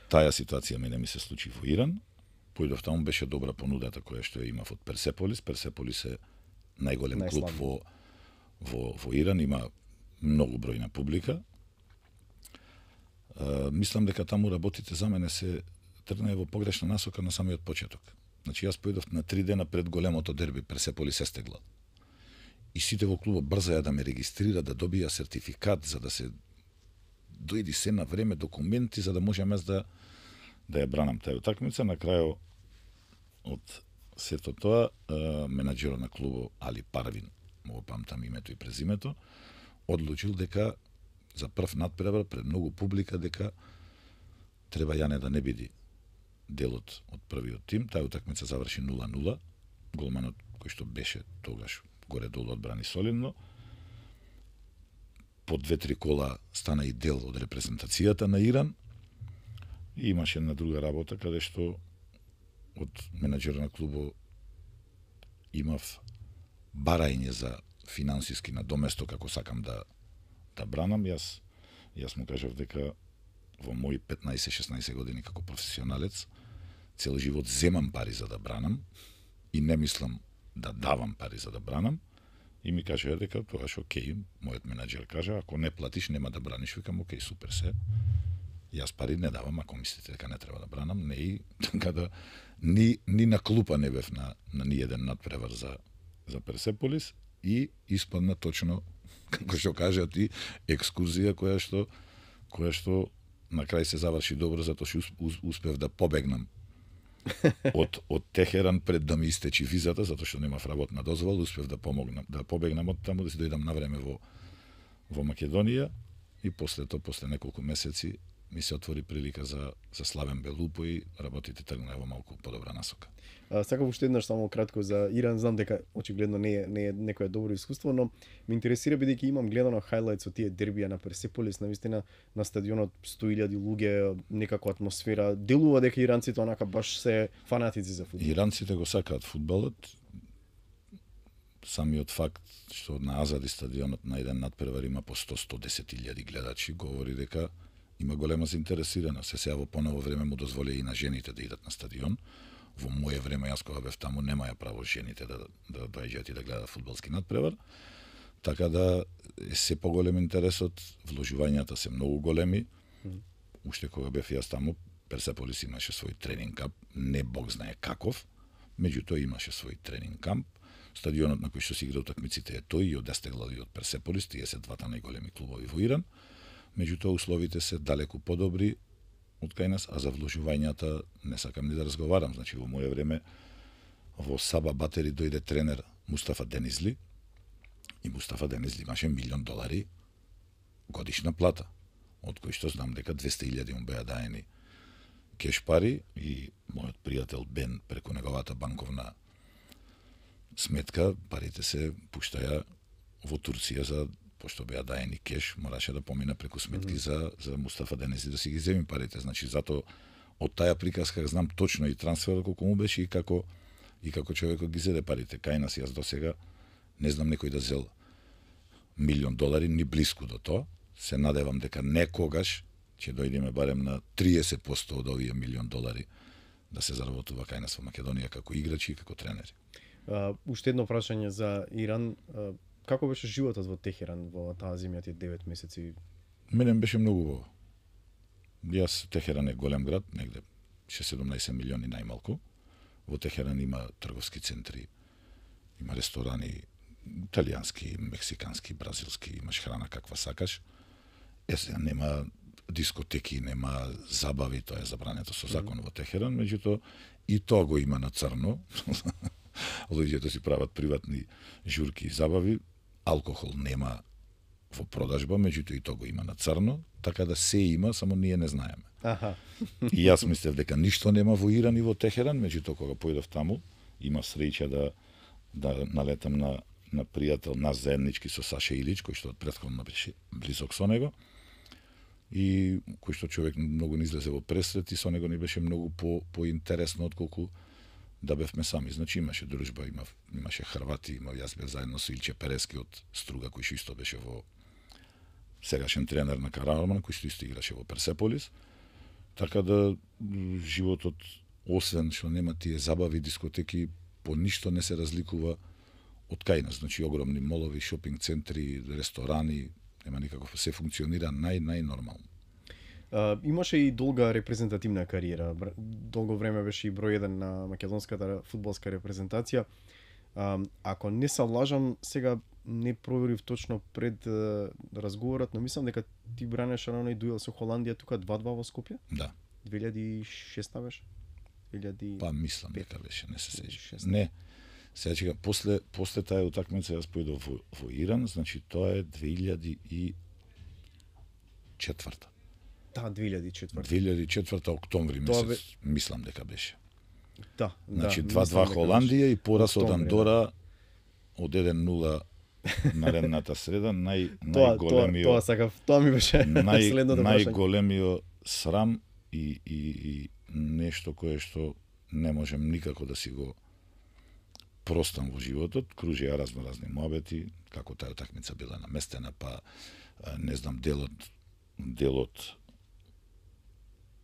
Таа ситуација мене ми се случи во Иран. Појдов таму, беше добра понудата која што ја имав од Персеполис. Персеполис е најголем клуб во, во, во Иран, има многу бројна публика. Uh, мислам дека таму работите за мене се тргнаа во погрешна насока на самиот почеток. Значи јас појдов на три дена пред големото дерби Персеполис Естеглад. И сите во клубот брзаја да ме регистрира, да добија сертификат за да се дојди се на време документи за да можам јас да да ја бранам таа утакмица. На крајот од сето тоа, менаџерот на клубот Али Парвин, му памтам името и презимето, одлучил дека за прв надпревар пред многу публика дека треба Јане да не биде делот од првиот тим. Таа утакмица заврши нула нула. Голманот кој што беше тогаш горе-долу одбрани солидно. По две-три кола стана и дел од репрезентацијата на Иран. И имаше една друга работа каде што од менаџерот на клубот имав барање за финансиски надоместок како сакам да да бранам. Јас јас му кажав дека во мои петнаесет-шеснаесет години како професионалец цел живот земам пари за да бранам и не мислам да давам пари за да бранам. И ми кажа дека тогаш окей, мојот менаџер кажа, ако не платиш нема да браниш, викам окей, супер се. Јас пари не давам, ако мислите дека не треба да бранам, не и така да ни ни на клупа не бев на на ни еден надпревар за за Персеполис и испадна точно како што кажат и екскурзија која што која што на крај се заврши добро затоа што успев да побегнам од од Техеран пред да ми истечи визата, затоа што немав работна дозвола, успев да помогнам, да побегнам од таму, да се дојдам на време во во Македонија и после тоа, после неколку месеци ми се отвори прилика за за Славен Белупо и работите тргнале во малку подобра насока. А, сакам уште еднаш само кратко за Иран, знам дека очигледно не е не е некое добро искуство, но ме интересира бидејќи имам гледано хайлајтс од тие дербија на Персеполис, навистина на стадионот сто илјади луѓе, некаква атмосфера, делува дека иранците онака баш се фанатици за фудбал. Иранците го сакаат фудбалот. Самиот факт што на Азади стадионот на еден надпревар има по сто до сто и десет илјади гледачи говори дека има голема заинтересираност. Се сега во поново време му дозволија и на жените да идат на стадион. Во моје време, јас кога бев таму, немаја право жените да да доаѓаат и да гледаат фудбалски надпревар. Така да се поголем интересот, вложувањата се многу големи. Mm. Уште кога бев јас таму, Персеполис имаше свој тренинг камп, не бог знае каков, меѓутоа имаше свој тренинг камп. Стадионот на кој што се игра утакмиците е тој и од Естеглад и од Персеполис, тие се двата најголеми клубови во Иран. Меѓутоа условите се далеку подобри од кај нас, а за вложувањата не сакам ни да разговарам. Значи, во моје време во Саба Батери дојде тренер Мустафа Денизли и Мустафа Денизли имаше милион долари годишна плата, од кои што знам дека двесте илјади му беа даени кеш пари и мојот пријател Бен преку неговата банковна сметка, парите се пуштаја во Турција за пошто беа даени кеш, мораше да помине преку сметки mm -hmm. за за Мустафа Денези да си ги земи парите. Значи затоа од таа приказка знам точно и трансферот колку му беше и како и како човекот ги зеде парите. Кај нас јас досега не знам некој да зел милион долари ни блиску до тоа. Се надевам дека некогаш ќе дојдеме барем на триесет проценти од овие милион долари да се заработува кај нас во Македонија како играчи и како тренери. Uh, уште едно прашање за Иран. Uh, како беше животот во Техеран во таа зимја тие девет месеци? Мене беше многу убаво. Јас, Техеран е голем град, негде шеснаесет милиони најмалку. Во Техеран има трговски центри, има ресторани, италијански, мексикански, бразилски, имаш храна каква сакаш. Е, сега нема дискотеки, нема забави, тоа е забрането со закон mm -hmm. во Техеран, меѓутоа и тоа го има на црно. Луѓето си прават приватни журки и забави, алкохол нема во продажба, меѓутоа и тоа го има на црно, така да се има, само ние не знаеме. Аха. И јас мислев дека ништо нема во Иран и во Техеран, меѓутоа кога појдов таму, има среќа да да налетам на на пријател наш заеднички со Саша Илич, кој што од претходно беше близок со него. И кој што човек многу не излезе во пресрет и со него ни беше многу по поинтересно отколку да бевме сами. Значи имаше дружба, има, имаше Хрвати, има, јас бев заедно со Илче Перески од Струга, кој што исто беше во сегашен тренер на Караорман, кој што исто играше во Персеполис. Така да животот, освен што нема тие забави, дискотеки, по ништо не се разликува од кај нас. Значи огромни молови, шопинг центри, ресторани, нема никаков, се функционира нај најнормално. Uh, имаше и долга репрезентативна кариера. Долго време беше и број еден на македонската фудбалска репрезентација. А, ако не се лажам, сега не проверив точно пред е, разговорот, но мислам дека ти бранеше на оној дуел со Холандија тука два-два во Скопје? Да. две илјади и шеста беше? две илјади Па мислам дека беше, не се сеќавам. шеста. Не. Сега чека, после после таа утакмица јас поидов во, во Иран, значи тоа е две илјади и четврта. Да, две илјади и четврта. две илјади и четврта октомври Тоа месец, мислам дека беше. Да, Значи да, два-два мислам дека Холандија и пораз од Октомври, Андора од еден нула наредната среда, нај Тоа, тоа, најголемиот тоа сакав, тоа ми беше нај, следното прашање. најголемиот срам и, и, и нешто кое што не можем никако да си го простам во животот. Кружија разно разни муабети, како таа утакмица била наместена, па не знам, делот делот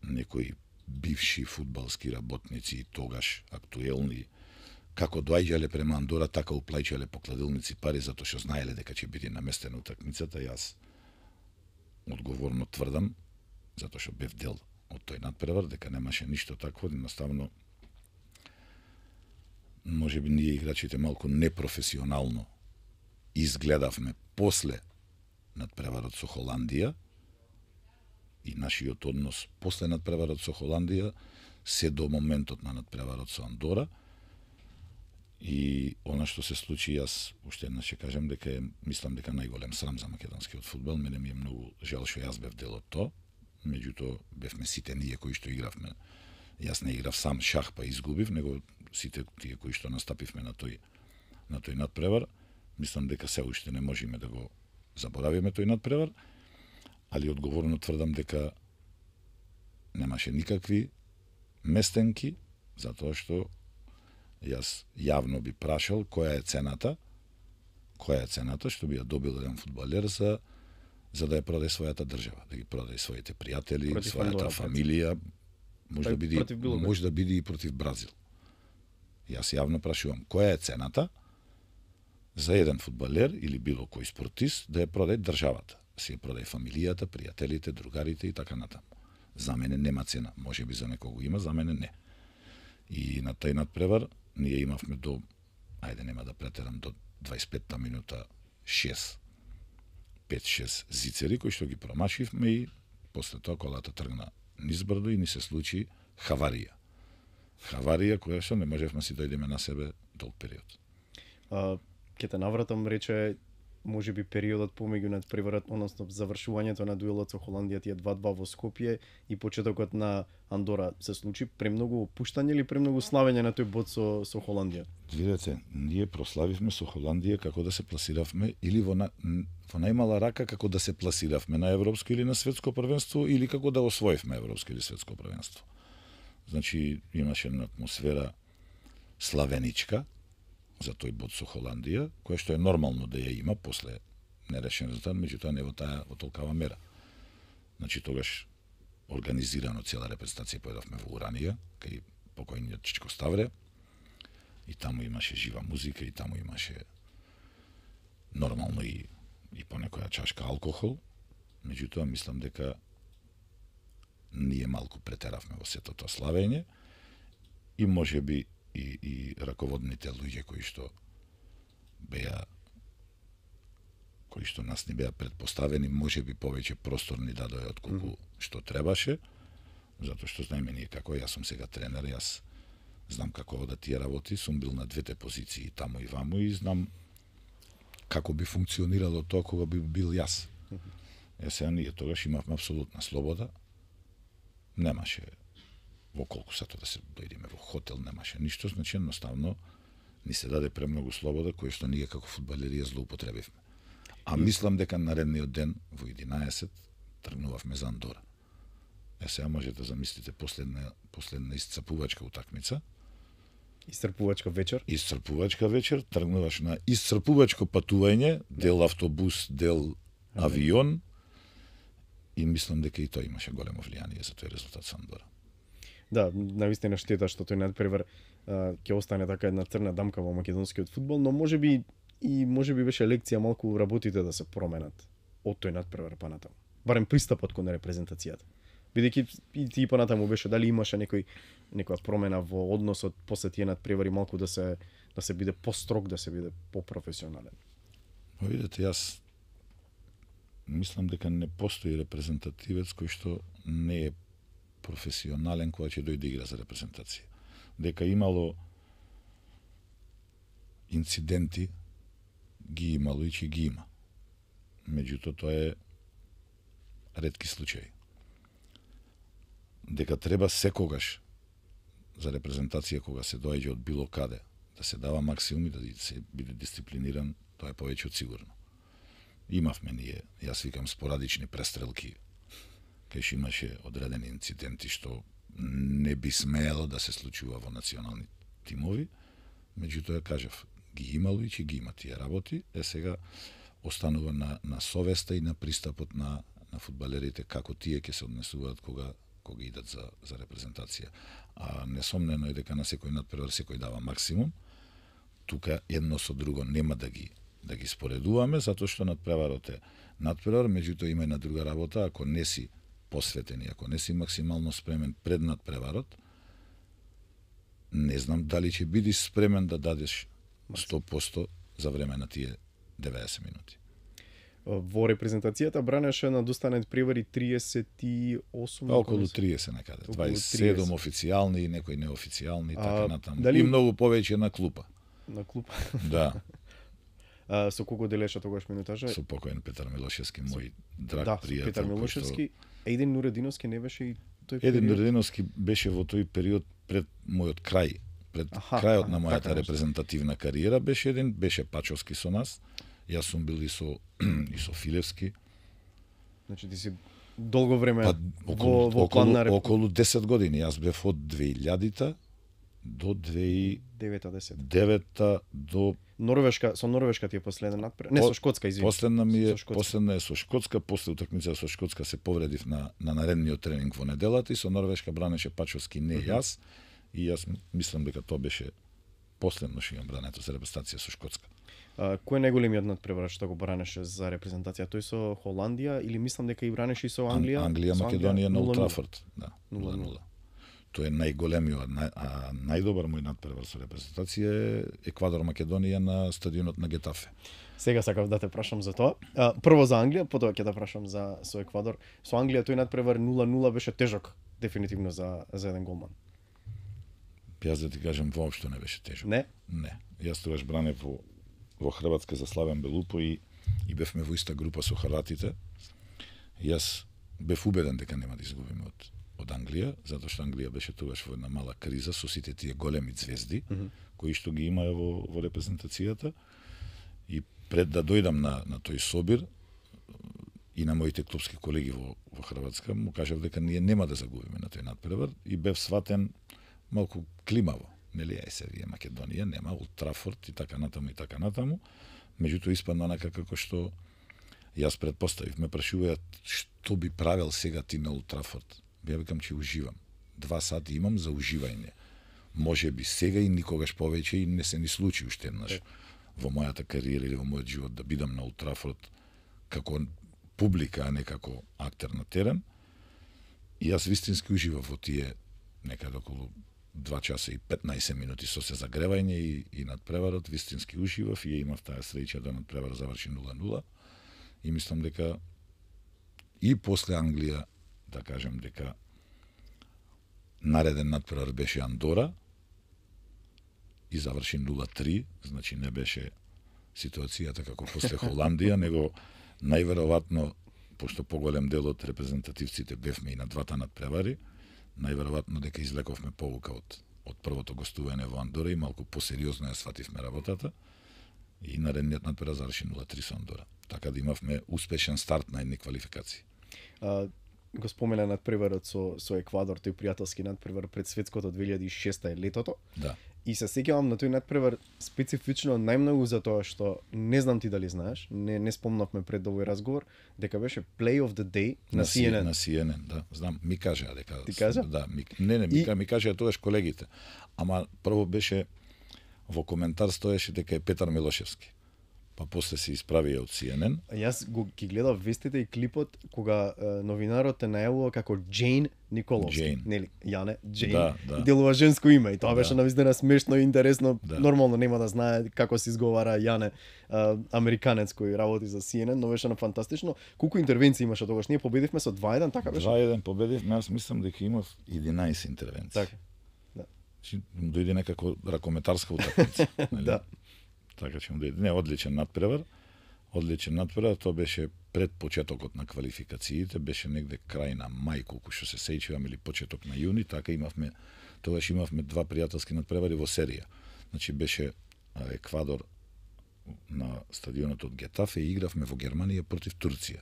некои бивши фудбалски работници тогаш актуелни, како доаѓале према Андора, така уплаќале по кладилници пари затоа што знаеле дека ќе биде наместена утакмицата. Јас одговорно тврдам, затоа што бев дел од тој надпревар, дека немаше ништо такво, едноставно можеби ние играчите малку непрофесионално изгледавме после надпреварот со Холандија и нашиот однос после надпреварот со Холандија се до моментот на надпреварот со Андора. И она што се случи, јас уште еднаш ќе кажам дека е, мислам дека најголем срам за македонскиот фудбал. Мене ми е многу жал што јас бев дел од тоа. Меѓутоа бевме сите ние кои што игравме. Јас не играв сам шах па изгубив, него сите тие кои што настапивме на тој на тој надпревар, мислам дека се уште не можеме да го заборавиме тој надпревар, али одговорно тврдам дека немаше никакви местенки, затоа што јас јавно би прашал која е цената, која е цената што би ја добил еден фудбалер за за да ја продаде својата држава, да ги продаде своите пријатели, Против својата Андора, фамилија, може да биде против било кој. може да биде и против Бразил. Јас јавно прашувам која е цената за еден фудбалер или било кој спортист да ја продаде државата, си ја продаде фамилијата, пријателите, другарите и така натаму. За мене нема цена, може би за некого има, за мене не. И на тај надпревар ние имавме до, ајде нема да претерам, до дваесет и петта минута шест пет-шест зицери кои што ги промашивме и после тоа колата тргна низ брдо и ни се случи хаварија. Хаварија која што не можевме си дојдеме на себе долг период. А, ке те навратам, рече, може би периодот помеѓу надпреварот, односно завршувањето на дуелот со Холандија, тие два-два во Скопје и почетокот на Андора се случи премногу опуштање или премногу славење на тој бод со со Холандија? Видете, ние прославивме со Холандија како да се пласиравме или во, на, во најмала рака како да се пласиравме на европско или на светско првенство или како да освоивме европско или светско првенство. Значи имаше една атмосфера славеничка за тој бод со Холандија, која што е нормално да ја има после нерешен резултат, меѓутоа не во таа во толкава мера. Значи тогаш организирано цела репрезентација поедовме во Уранија, кај покојниот Чичко Ставре, и таму имаше жива музика, и таму имаше нормално и, и по некоја чашка алкохол, меѓутоа мислам дека ние малку претеравме во сето тоа славење и можеби и, и раководните луѓе кои што беа кои што нас не беа предпоставени, можеби повеќе простор ни дадоа од колку mm -hmm. што требаше, затоа што знаеме ние како, јас сум сега тренер, јас знам како одат тие работи, сум бил на двете позиции, таму и ваму, и знам како би функционирало тоа кога би бил јас. Mm -hmm. Ја сега ние тогаш имавме апсолутна слобода, немаше во колку сато да се дојдеме во хотел, немаше ништо, значи едноставно ни се даде премногу слобода која што ние како фудбалери ја злоупотребивме. А мислам дека наредниот ден во единаесет тргнувавме за Андора. Е сега можете да замислите последна последна исцрпувачка утакмица, Исцрпувачка вечер. Исцрпувачка вечер, тргнуваш на исцрпувачко патување, дел автобус, дел авион, и мислам дека и тоа имаше големо влијание за тој резултат со Андора. Да, навистина штета што тој надпревар ќе остане така една црна дамка во македонскиот фудбал, но можеби и можеби беше лекција малку работите да се променат од тој надпревар па натаму. Барем пристапот кон репрезентацијата. Бидејќи и ти понатаму беше дали имаше некој некоја промена во односот после тие надпревари малку да се да се биде построг, да се биде попрофесионален. Па видете, јас мислам дека не постои репрезентативец кој што не е професионален кога ќе дојде игра за репрезентација. Дека имало инциденти, ги имало и ќе ги има. Меѓутоа тоа е ретки случаи. Дека треба секогаш за репрезентација кога се доаѓа од било каде да се дава максимум и да се биде дисциплиниран, тоа е повеќе од сигурно. Имавме ние, јас викам, спорадични престрелки, кај што имаше одредени инциденти што не би смеело да се случува во национални тимови, меѓутоа кажав, ги имало и ќе ги има тие работи, е сега останува на, на совеста и на пристапот на, на фудбалерите како тие ќе се однесуваат кога кога идат за, за репрезентација. А несомнено е дека на секој надпревар секој дава максимум. Тука едно со друго нема да ги да ги споредуваме, затоа што надпреварот е надпревар, меѓутоа има една друга работа, ако не си посветен и ако не си максимално спремен пред надпреварот, не знам дали ќе бидеш спремен да дадеш сто проценти за време на тие деветдесет минути. Во репрезентацијата бранеше на доста надпревари триесет и осум, па, околу триесет некаде, дваесет и седум официјални и некои неофицијални и така натаму. Дали... И многу повеќе на клупа. На клупа. Да. А, со колку делеше тогаш минутажа? Со покоен Петар Милошевски, мој драг да, пријател. Петар Милошевски, што... Един Нурединовски не беше и тој период? Един Нурединовски беше во тој период пред мојот крај, пред Аха, крајот на мојата така репрезентативна кариера беше еден, беше Пачовски со нас. Јас сум бил и со и со Филевски. Значи ти си долго време па, околу, во, во план на реп... околу десет години. Јас бев од две илјадите до две и девета до Норвешка, со Норвешка ти е последен надпревар. Не, со Шкотска, извини. Последна ми е, последна е со Шкотска, после утакмица со Шкотска се повредив на на наредниот тренинг во неделата и со Норвешка бранеше Пачовски, не mm -hmm. јас. И јас мислам дека тоа беше последно што имам брането за репрезентација со Шкотска. А, кој е најголемиот надпревар што го бранеше за репрезентација? Тој со Холандија или мислам дека и бранеше и со Англија? Ан, Англија, Македонија на Олд Трафорд, да. нула нула. Тој е најголемиот, нај, а најдобар мој надпревар со репрезентација е Еквадор Македонија на стадионот на Гетафе. Сега сакав да те прашам за тоа. А, прво за Англија, потоа ќе да прашам за со Еквадор. Со Англија тој надпревар нула нула беше тежок дефинитивно за за еден голман. Јас да ти кажам, воопшто не беше тежок. Не? Не. Јас тогаш бранев во во Хрватска за Славен Белупо и и бевме во иста група со хрватите. Јас бев убеден дека нема да изгубиме од од Англија, затоа што Англија беше тогаш во една мала криза со сите тие големи звезди, mm -hmm. кои што ги имаа во во репрезентацијата. И пред да дојдам на на тој собир и на моите клубски колеги во во Хрватска, му кажав дека ние нема да загубиме на тој надпревар и бев сватен малку климаво. Нели, е се вие Македонија нема Олд Трафорд и така натаму и така натаму. Меѓутоа испадна онака како што јас предпоставив. Ме прашуваат што би правел сега ти на Олд Трафорд. Ја викам че уживам. Два сати имам за уживање. Може би сега и никогаш повеќе и не се ни случи уште еднаш во мојата кариера или во мојот живот да бидам на Олд Трафорд како публика, а не како актер на терен. И јас вистински уживав во тие некаде околу два часа и петнаесет минути со се загревање и, и надпреварот, вистински уживав и ја имав таа среќа да надпреварот заврши нула нула. И мислам дека и после Англија, да кажем дека нареден надпревар беше Андора и заврши нула три, значи не беше ситуацијата како после Холандија, него најверојатно, пошто поголем дел од репрезентативците бевме и на двата надпревари, најверојатно дека излековме повука од од првото гостување во Андора и малку посериозно ја свативме работата и наредниот надпревар заврши нула три со Андора. Така да имавме успешен старт на едни квалификации. А, го спомена надпреварот со со Еквадор, тој пријателски надпревар пред светското две илјади и шеста е летото. Да. И се сеќавам на тој надпревар специфично најмногу за тоа што не знам ти дали знаеш, не не спомнавме пред овој разговор, дека беше Play of the Day на, на Си Ен Ен. На Си Ен Ен, да, знам, ми кажа дека. Ти кажа? Да, ми, не, не, ми, и... ми кажа тогаш колегите. Ама прво беше во коментар стоеше дека е Петар Милошевски. па после се исправија од Си Ен Ен. Јас го ги гледав вестите и клипот кога е, новинарот те најавува како Джейн Николовски, Джейн. нели? Јане, Джейн. Да, да. И делува женско име и тоа Да. беше навистина смешно и интересно. Да. Нормално нема да знае како се изговара Јане, а, американец кој работи за Си Ен Ен, но беше на фантастично. Колку интервенции имаше тогаш? Ние победивме со два еден, така беше? два еден победивме, јас мислам дека имав единаесет интервенции. Така. Значи, му дојде некако ракометарска утакмица. нели? Да. Така че му дојде. Не, одличен надпревар. Одличен надпревар, тоа беше пред почетокот на квалификациите, беше негде крај на мај, колку што се сеќавам, или почеток на јуни, така имавме, тогаш имавме два пријателски надпревари во серија. Значи беше а, Еквадор на стадионот од Гетафе и игравме во Германија против Турција.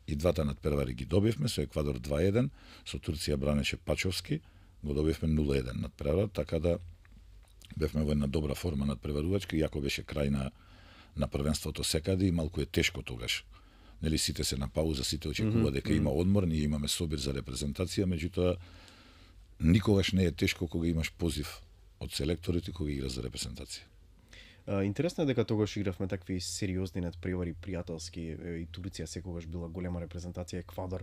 И двата надпревари ги добивме, со Еквадор два еден, со Турција бранеше Пачовски, го добивме нула еден надпревар, така да бевме во една добра форма надпреварувачка, иако беше крај на на првенството секаде и малку е тешко тогаш. Нели сите се на пауза, сите очекува дека има одмор, ние имаме собир за репрезентација, меѓутоа никогаш не е тешко кога имаш позив од селекторите кога играш за репрезентација. А, интересно е дека тогаш игравме такви сериозни надпревари, пријателски, и Турција секогаш била голема репрезентација, Еквадор,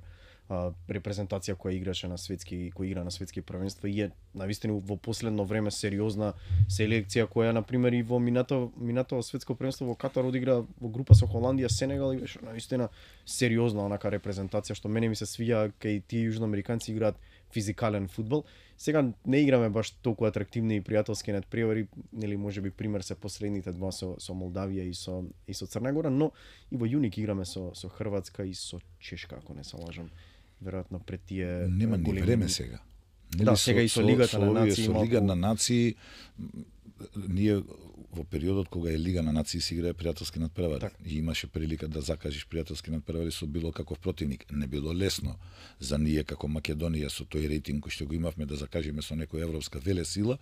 а, репрезентација која играше на светски, која игра на светски првенства и е навистина во последно време сериозна селекција која на пример и во минато минато светско првенство во Катар одигра во група со Холандија, Сенегал и беше навистина сериозна онака репрезентација што мене ми се свија кај тие јужноамериканци играат физикален фудбал. Сега не играме баш толку атрактивни и пријателски надпревари, нели можеби пример се последните два со со Молдавија и со и со Црна Гора, но и во јуни играме со со Хрватска и со Чешка, ако не се лажам. Веројатно пред тие Нема ни големи- време сега. Да, сега и со Лигата на овие- нации Со малку- Лига на нации, м, ние во периодот кога е Лига на нации се играе пријателски надпревари. Так. И имаше прилика да закажеш пријателски надпревари со било каков противник. Не било лесно за ние како Македонија со тој рейтинг кој што го имавме да закажеме со некоја европска велесила.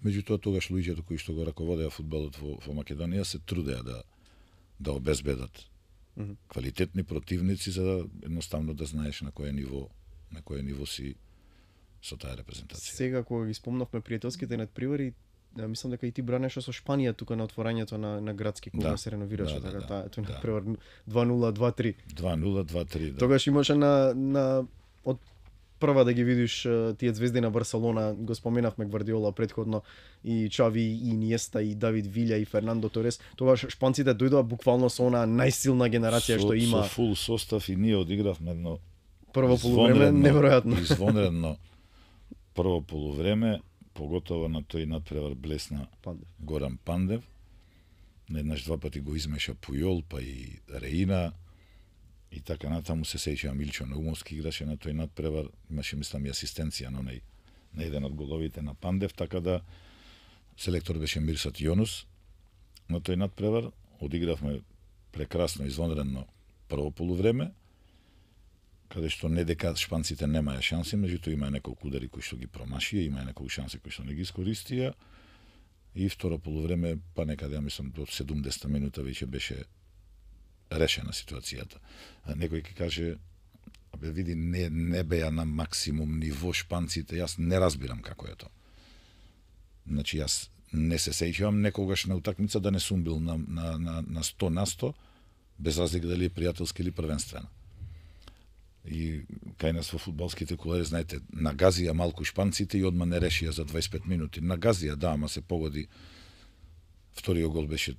Меѓутоа тогаш луѓето кои што го раководеа фудбалот во, во Македонија се трудеа да да обезбедат Мгм. квалитетни противници за да едноставно да знаеш на кое ниво на кое ниво си со таа репрезентација. Сега кога ги спомнавме пријателските надпревари, да, мислам дека и ти бранеше со Шпанија тука на отворањето на на градски кога Да, се реновираше, да, да, така да, таа тој да. надпревар два нула два три. два нула два три. Да. Тогаш имаше на на од прва да ги видиш е, тие звезди на Барселона, го споменавме Гвардиола претходно, и Чави, и Иниеста, и Давид Вилја, и Фернандо Торес. Тогаш шпанците дојдоа буквално со она најсилна генерација со, што има. Со фул состав и ние одигравме едно Прво полувреме извонредно- неверојатно. Извонредно прво полувреме, поготово на тој надпревар блесна Пандев. Горан Пандев. Еднаш два пати го измеша Пујол, па и Реина. И така натаму се сеќавам Илчо Наумовски играше на тој надпревар, имаше мислам и асистенција на онај на еден од головите на Пандев, така да селектор беше Мирсат Јонус на тој надпревар. Одигравме прекрасно, извонредно прво полувреме, каде што не дека шпанците немаја шанси, меѓутоа имаа неколку удари кои што ги промашија, имаа неколку шанси кои што не ги искористија. И второ полувреме, па некаде, ја мислам, до седумдесета минута веќе беше решена ситуацијата. А некој ќе каже, абе види, не, не беа на максимум ниво шпанците, јас не разбирам како е тоа. Значи, јас не се сеќавам некогаш на утакмица да не сум бил на, на, на, на сто на сто, без разлика дали е пријателски или првенствена. И кај нас во фудбалските кулари, знаете, нагазија малку шпанците и одма не решија за дваесет и пет минути. Нагазија, да, ама се погоди. Вториот гол беше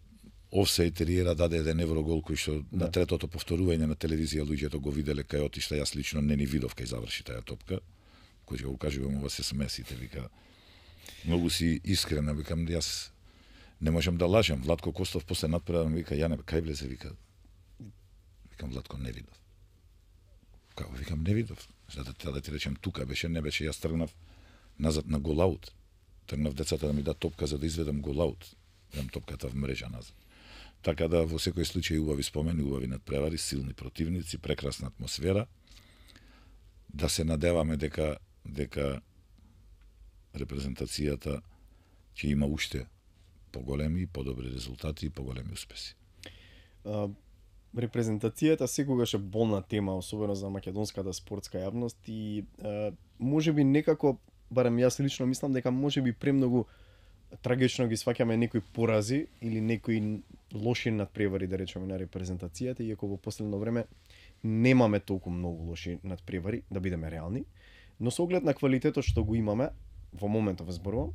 офсајд, Риера даде еден еврогол кој што Да. на третото повторување на телевизија луѓето го виделе кај отишта, јас лично не ни видов кај заврши таа топка. Кој ќе го кажувам, ова се смесите, вика. Многу си искрена, викам, јас не можам да лажам. Владко Костов после надпревар ми вика, Јане, кај влезе, вика. Викам, Владко, не видов. Како, викам, не видов. За да треба да ти речем, тука беше, не беше, јас тргнав назад на голаут. Тргнав децата да ми дадат топка за да изведам голаут. Дам топката в мрежа назад. Така да во секој случај убави спомени, убави надпревари, силни противници, прекрасна атмосфера. Да се надеваме дека дека репрезентацијата ќе има уште поголеми и подобри резултати и поголеми успеси. А, репрезентацијата секогаш е болна тема, особено за македонската спортска јавност и а, можеби некако, барем јас лично мислам дека можеби премногу трагично ги сваќаме некои порази или некои лоши надпревари, да речеме, на репрезентацијата, иако во последно време немаме толку многу лоши надпревари, да бидеме реални, но со оглед на квалитетот што го имаме, во моментов зборувам,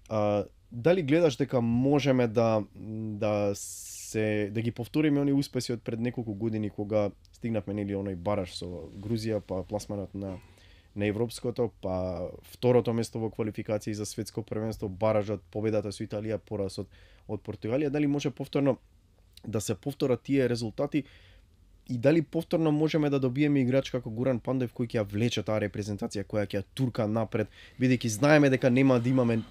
а, дали гледаш дека можеме да да се да ги повториме оние успеси од пред неколку години кога стигнавме нели оној бараж со Грузија, па пласманот на на европското, па второто место во квалификации за светско првенство, баражот, победата со Италија, поразот од Португалија, дали може повторно да се повторат тие резултати и дали повторно можеме да добиеме играч како Гуран Пандев кој ќе ја влече таа репрезентација, која ќе ја турка напред, бидејќи знаеме дека нема да имаме,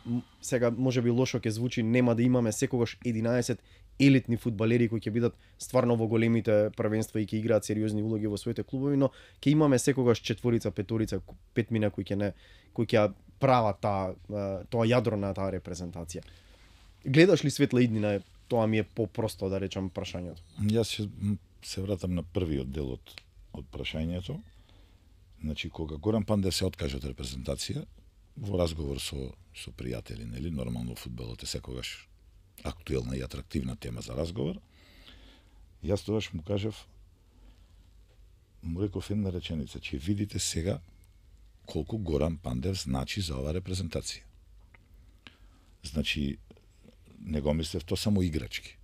сега можеби лошо ќе звучи, нема да имаме секогаш единаесет елитни фудбалери кои ќе бидат стварно во големите првенства и ќе играат сериозни улоги во своите клубови, но ќе имаме секогаш четворица, петорица, петмина кои ќе не кои ќе прават таа тоа јадро на таа репрезентација. Гледаш ли светла иднина? Тоа ми е попросто да речам прашањето. Јас се, се вратам на првиот дел од од прашањето. Значи кога Горан Пандев се откаже од репрезентација во разговор со со пријатели, нели, нормално фудбалот е секогаш актуелна и атрактивна тема за разговор. Јас тогаш му кажав, му реков една реченица, че видите сега колку Горан Пандев значи за оваа репрезентација. Значи, не го мислев то само играчки.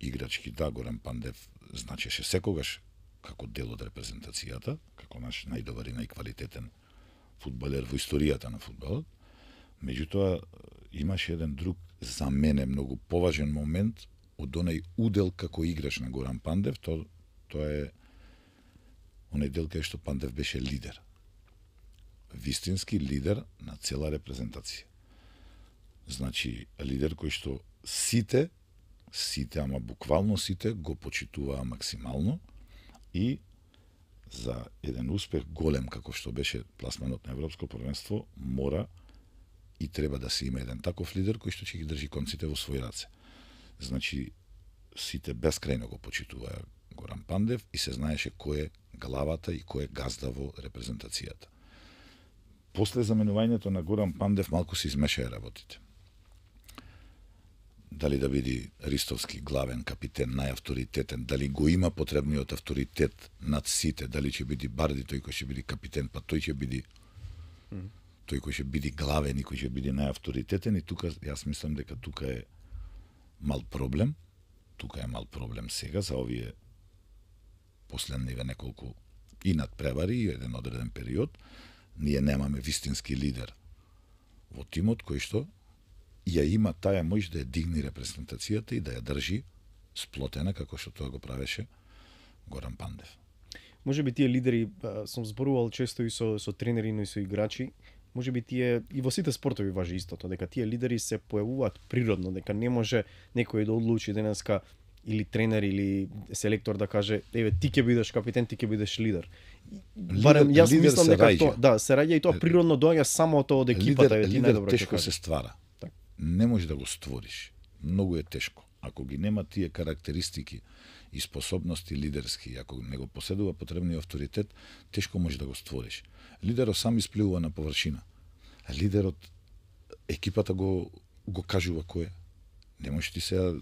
Играчки, да, Горан Пандев значеше секогаш како дел од репрезентацијата, како наш најдобар и најквалитетен фудбалер во историјата на фудбалот. Меѓутоа, имаше еден друг, за мене, многу поважен момент од онај удел како играч на Горан Пандев, то, тоа е онај дел кај што Пандев беше лидер. Вистински лидер на цела репрезентација. Значи, лидер кој што сите, сите, ама буквално сите, го почитуваа максимално и за еден успех голем како што беше пласманот на Европско првенство, мора и треба да се има еден таков лидер кој што ќе ги држи конците во своји раце. Значи, сите бескрајно го почитуваа Горан Пандев и се знаеше кој е главата и кој е газда во репрезентацијата. После заменувањето на Горан Пандев малку се измешаја работите. Дали да биде Ристовски главен капитен, најавторитетен, дали го има потребниот авторитет над сите, дали ќе биде Барди тој кој ќе биде капитен, па тој ќе биде mm. тој кој ќе биде главен и кој ќе биде најавторитетен, и тука јас мислам дека тука е мал проблем. Тука е мал проблем сега за овие последниве неколку и надпревари и еден одреден период. Ние немаме вистински лидер во тимот кој што ја има таа моќ да ја дигне репрезентацијата и да ја држи сплотена како што тоа го правеше Горан Пандев. Може би тие лидери, сум зборувал често и со со тренери, но и со играчи, може би тие и во сите спортови важи истото, дека тие лидери се појавуваат природно, дека не може некој да одлучи денеска или тренер или селектор да каже еве ти ќе бидеш капитен, ти ќе бидеш лидер. Барем јас мислам дека тоа, да, се раѓа и тоа природно доаѓа само тоа од екипата, лидер, ти лидер најдобро тешко се ствара. Так. Не можеш да го створиш. Многу е тешко. Ако ги нема тие карактеристики и способности лидерски, ако не го поседува потребниот авторитет, тешко можеш да го створиш. Лидерот сам испливува на површина. А лидерот, екипата го го кажува кој е. Не можеш ти се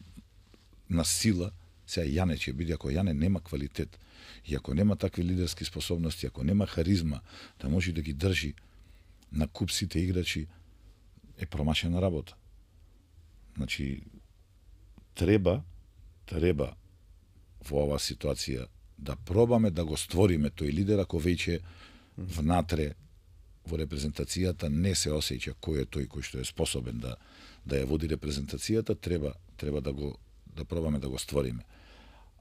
на сила, сега Јане ќе биде, ако Јане нема квалитет, и ако нема такви лидерски способности, ако нема харизма, да може да ги држи на куп сите играчи, е промашена работа. Значи, треба, треба во оваа ситуација да пробаме да го створиме тој лидер, ако веќе внатре во репрезентацијата не се осеќа кој е тој кој што е способен да да ја води репрезентацијата, треба треба да го да пробаме да го створиме.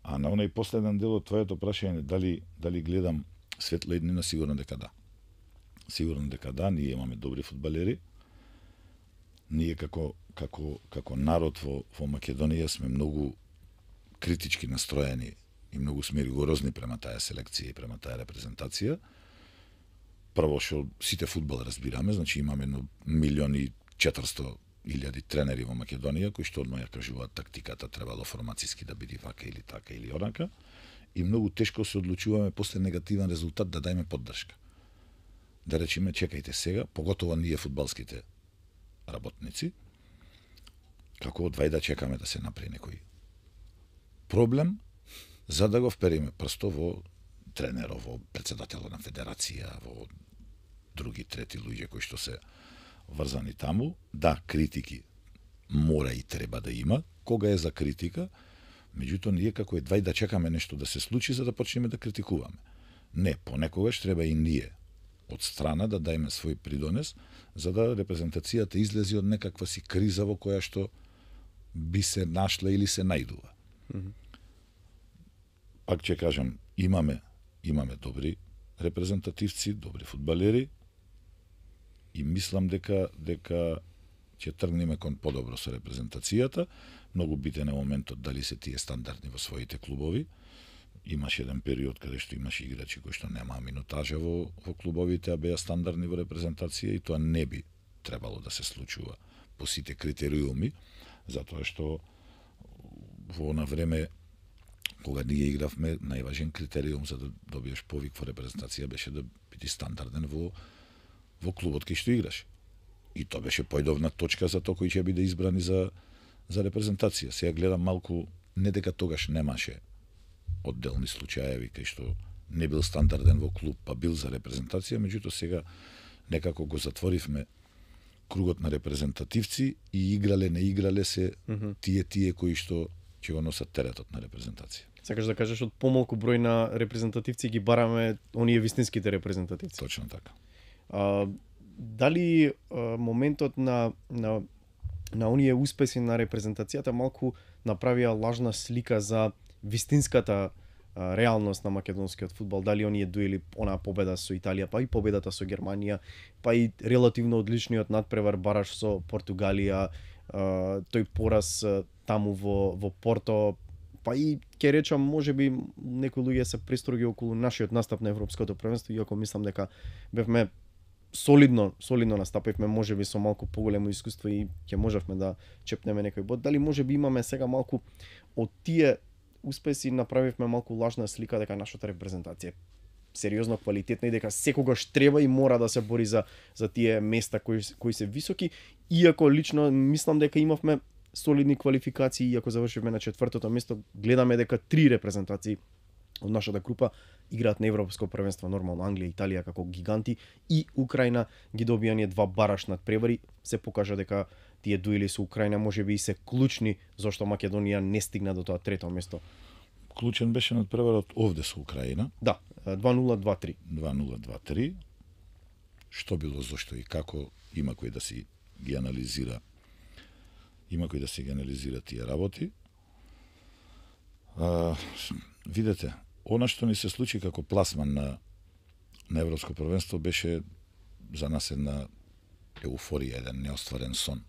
А на оној последен дел од твоето прашање, дали дали гледам светла иднина, сигурно дека да. Сигурно дека да, ние имаме добри фудбалери. Ние како како како народ во во Македонија сме многу критички настроени и многу сме ригорозни према таа селекција и према таа репрезентација. Прво што сите фудбал разбираме, значи имаме едно милион и четиристо илјади тренери во Македонија кои што одма ја кажуваат тактиката требало формацијски да биде вака или така или онака, и многу тешко се одлучуваме после негативен резултат да дајме поддршка. Да речеме, чекајте сега, поготово ние фудбалските работници, како одвај да чекаме да се направи некој проблем, за да го впериме прсто во тренеров, во председателот на федерација, во други трети луѓе кои што се врзани таму. Да, критики мора и треба да има, кога е за критика, меѓутоа ние како едвај да чекаме нешто да се случи за да почнеме да критикуваме. Не, понекогаш треба и ние од страна да дајме свој придонес за да репрезентацијата излези од некаква си криза во која што би се нашла или се најдува. Mm-hmm. Пак ќе кажам, имаме имаме добри репрезентативци, добри фудбалери и мислам дека дека ќе тргнеме кон подобро со репрезентацијата. Многу битен е моментот дали се тие стандардни во своите клубови. Имаше еден период каде што имаше играчи кои што немаа минутажа во, во клубовите, а беа стандардни во репрезентација и тоа не би требало да се случува по сите критериуми, затоа што во на време кога ние игравме, најважен критериум за да добиеш повик во репрезентација беше да биде стандарден во во клубот кај што играш. И тоа беше појдовна точка за тоа кој ќе биде избрани за за репрезентација. Сега гледам малку, не дека тогаш немаше одделни случаеви кај што не бил стандарден во клуб, па бил за репрезентација, меѓутоа сега некако го затворивме кругот на репрезентативци и играле, не играле се mm-hmm. тие тие кои што ќе го носат теретот на репрезентација. Сакаш да кажеш од помалку број на репрезентативци ги бараме оние вистинските репрезентативци. Точно така. А, дали а, моментот на на на оние успеси на репрезентацијата малку направија лажна слика за вистинската а, реалност на македонскиот фудбал, дали оние доили онаа победа со Италија, па и победата со Германија, па и релативно одличниот надпревар бараш со Португалија, а, тој пораз а, таму во во Порто, па и ќе речам можеби некои луѓе се пристроги околу нашиот настап на европското првенство, иако мислам дека бевме солидно, солидно настапивме, можеби со малку поголемо искуство и ќе можевме да чепнеме некој бод. Дали можеби имаме сега малку од тие успеси направивме малку лажна слика дека нашата репрезентација сериозно квалитетна и дека секогаш треба и мора да се бори за за тие места кои кои се високи, иако лично мислам дека имавме солидни квалификации, иако завршивме на четвртото место, гледаме дека три репрезентации од нашата група играат на европско првенство, нормално Англија, Италија како гиганти и Украина ги добија ние два бараш надпревари, се покажа дека тие дуели со Украина можеби и се клучни зашто Македонија не стигна до тоа трето место. Клучен беше надпреварот овде со Украина. Да, два нула два три. два нула два три. Што било, зашто и како, има кој да си ги анализира. Има кој да си ги анализира тие работи. А, видете, она што ни се случи како пласман на, на Европско првенство беше за нас една еуфорија, еден неостварен сон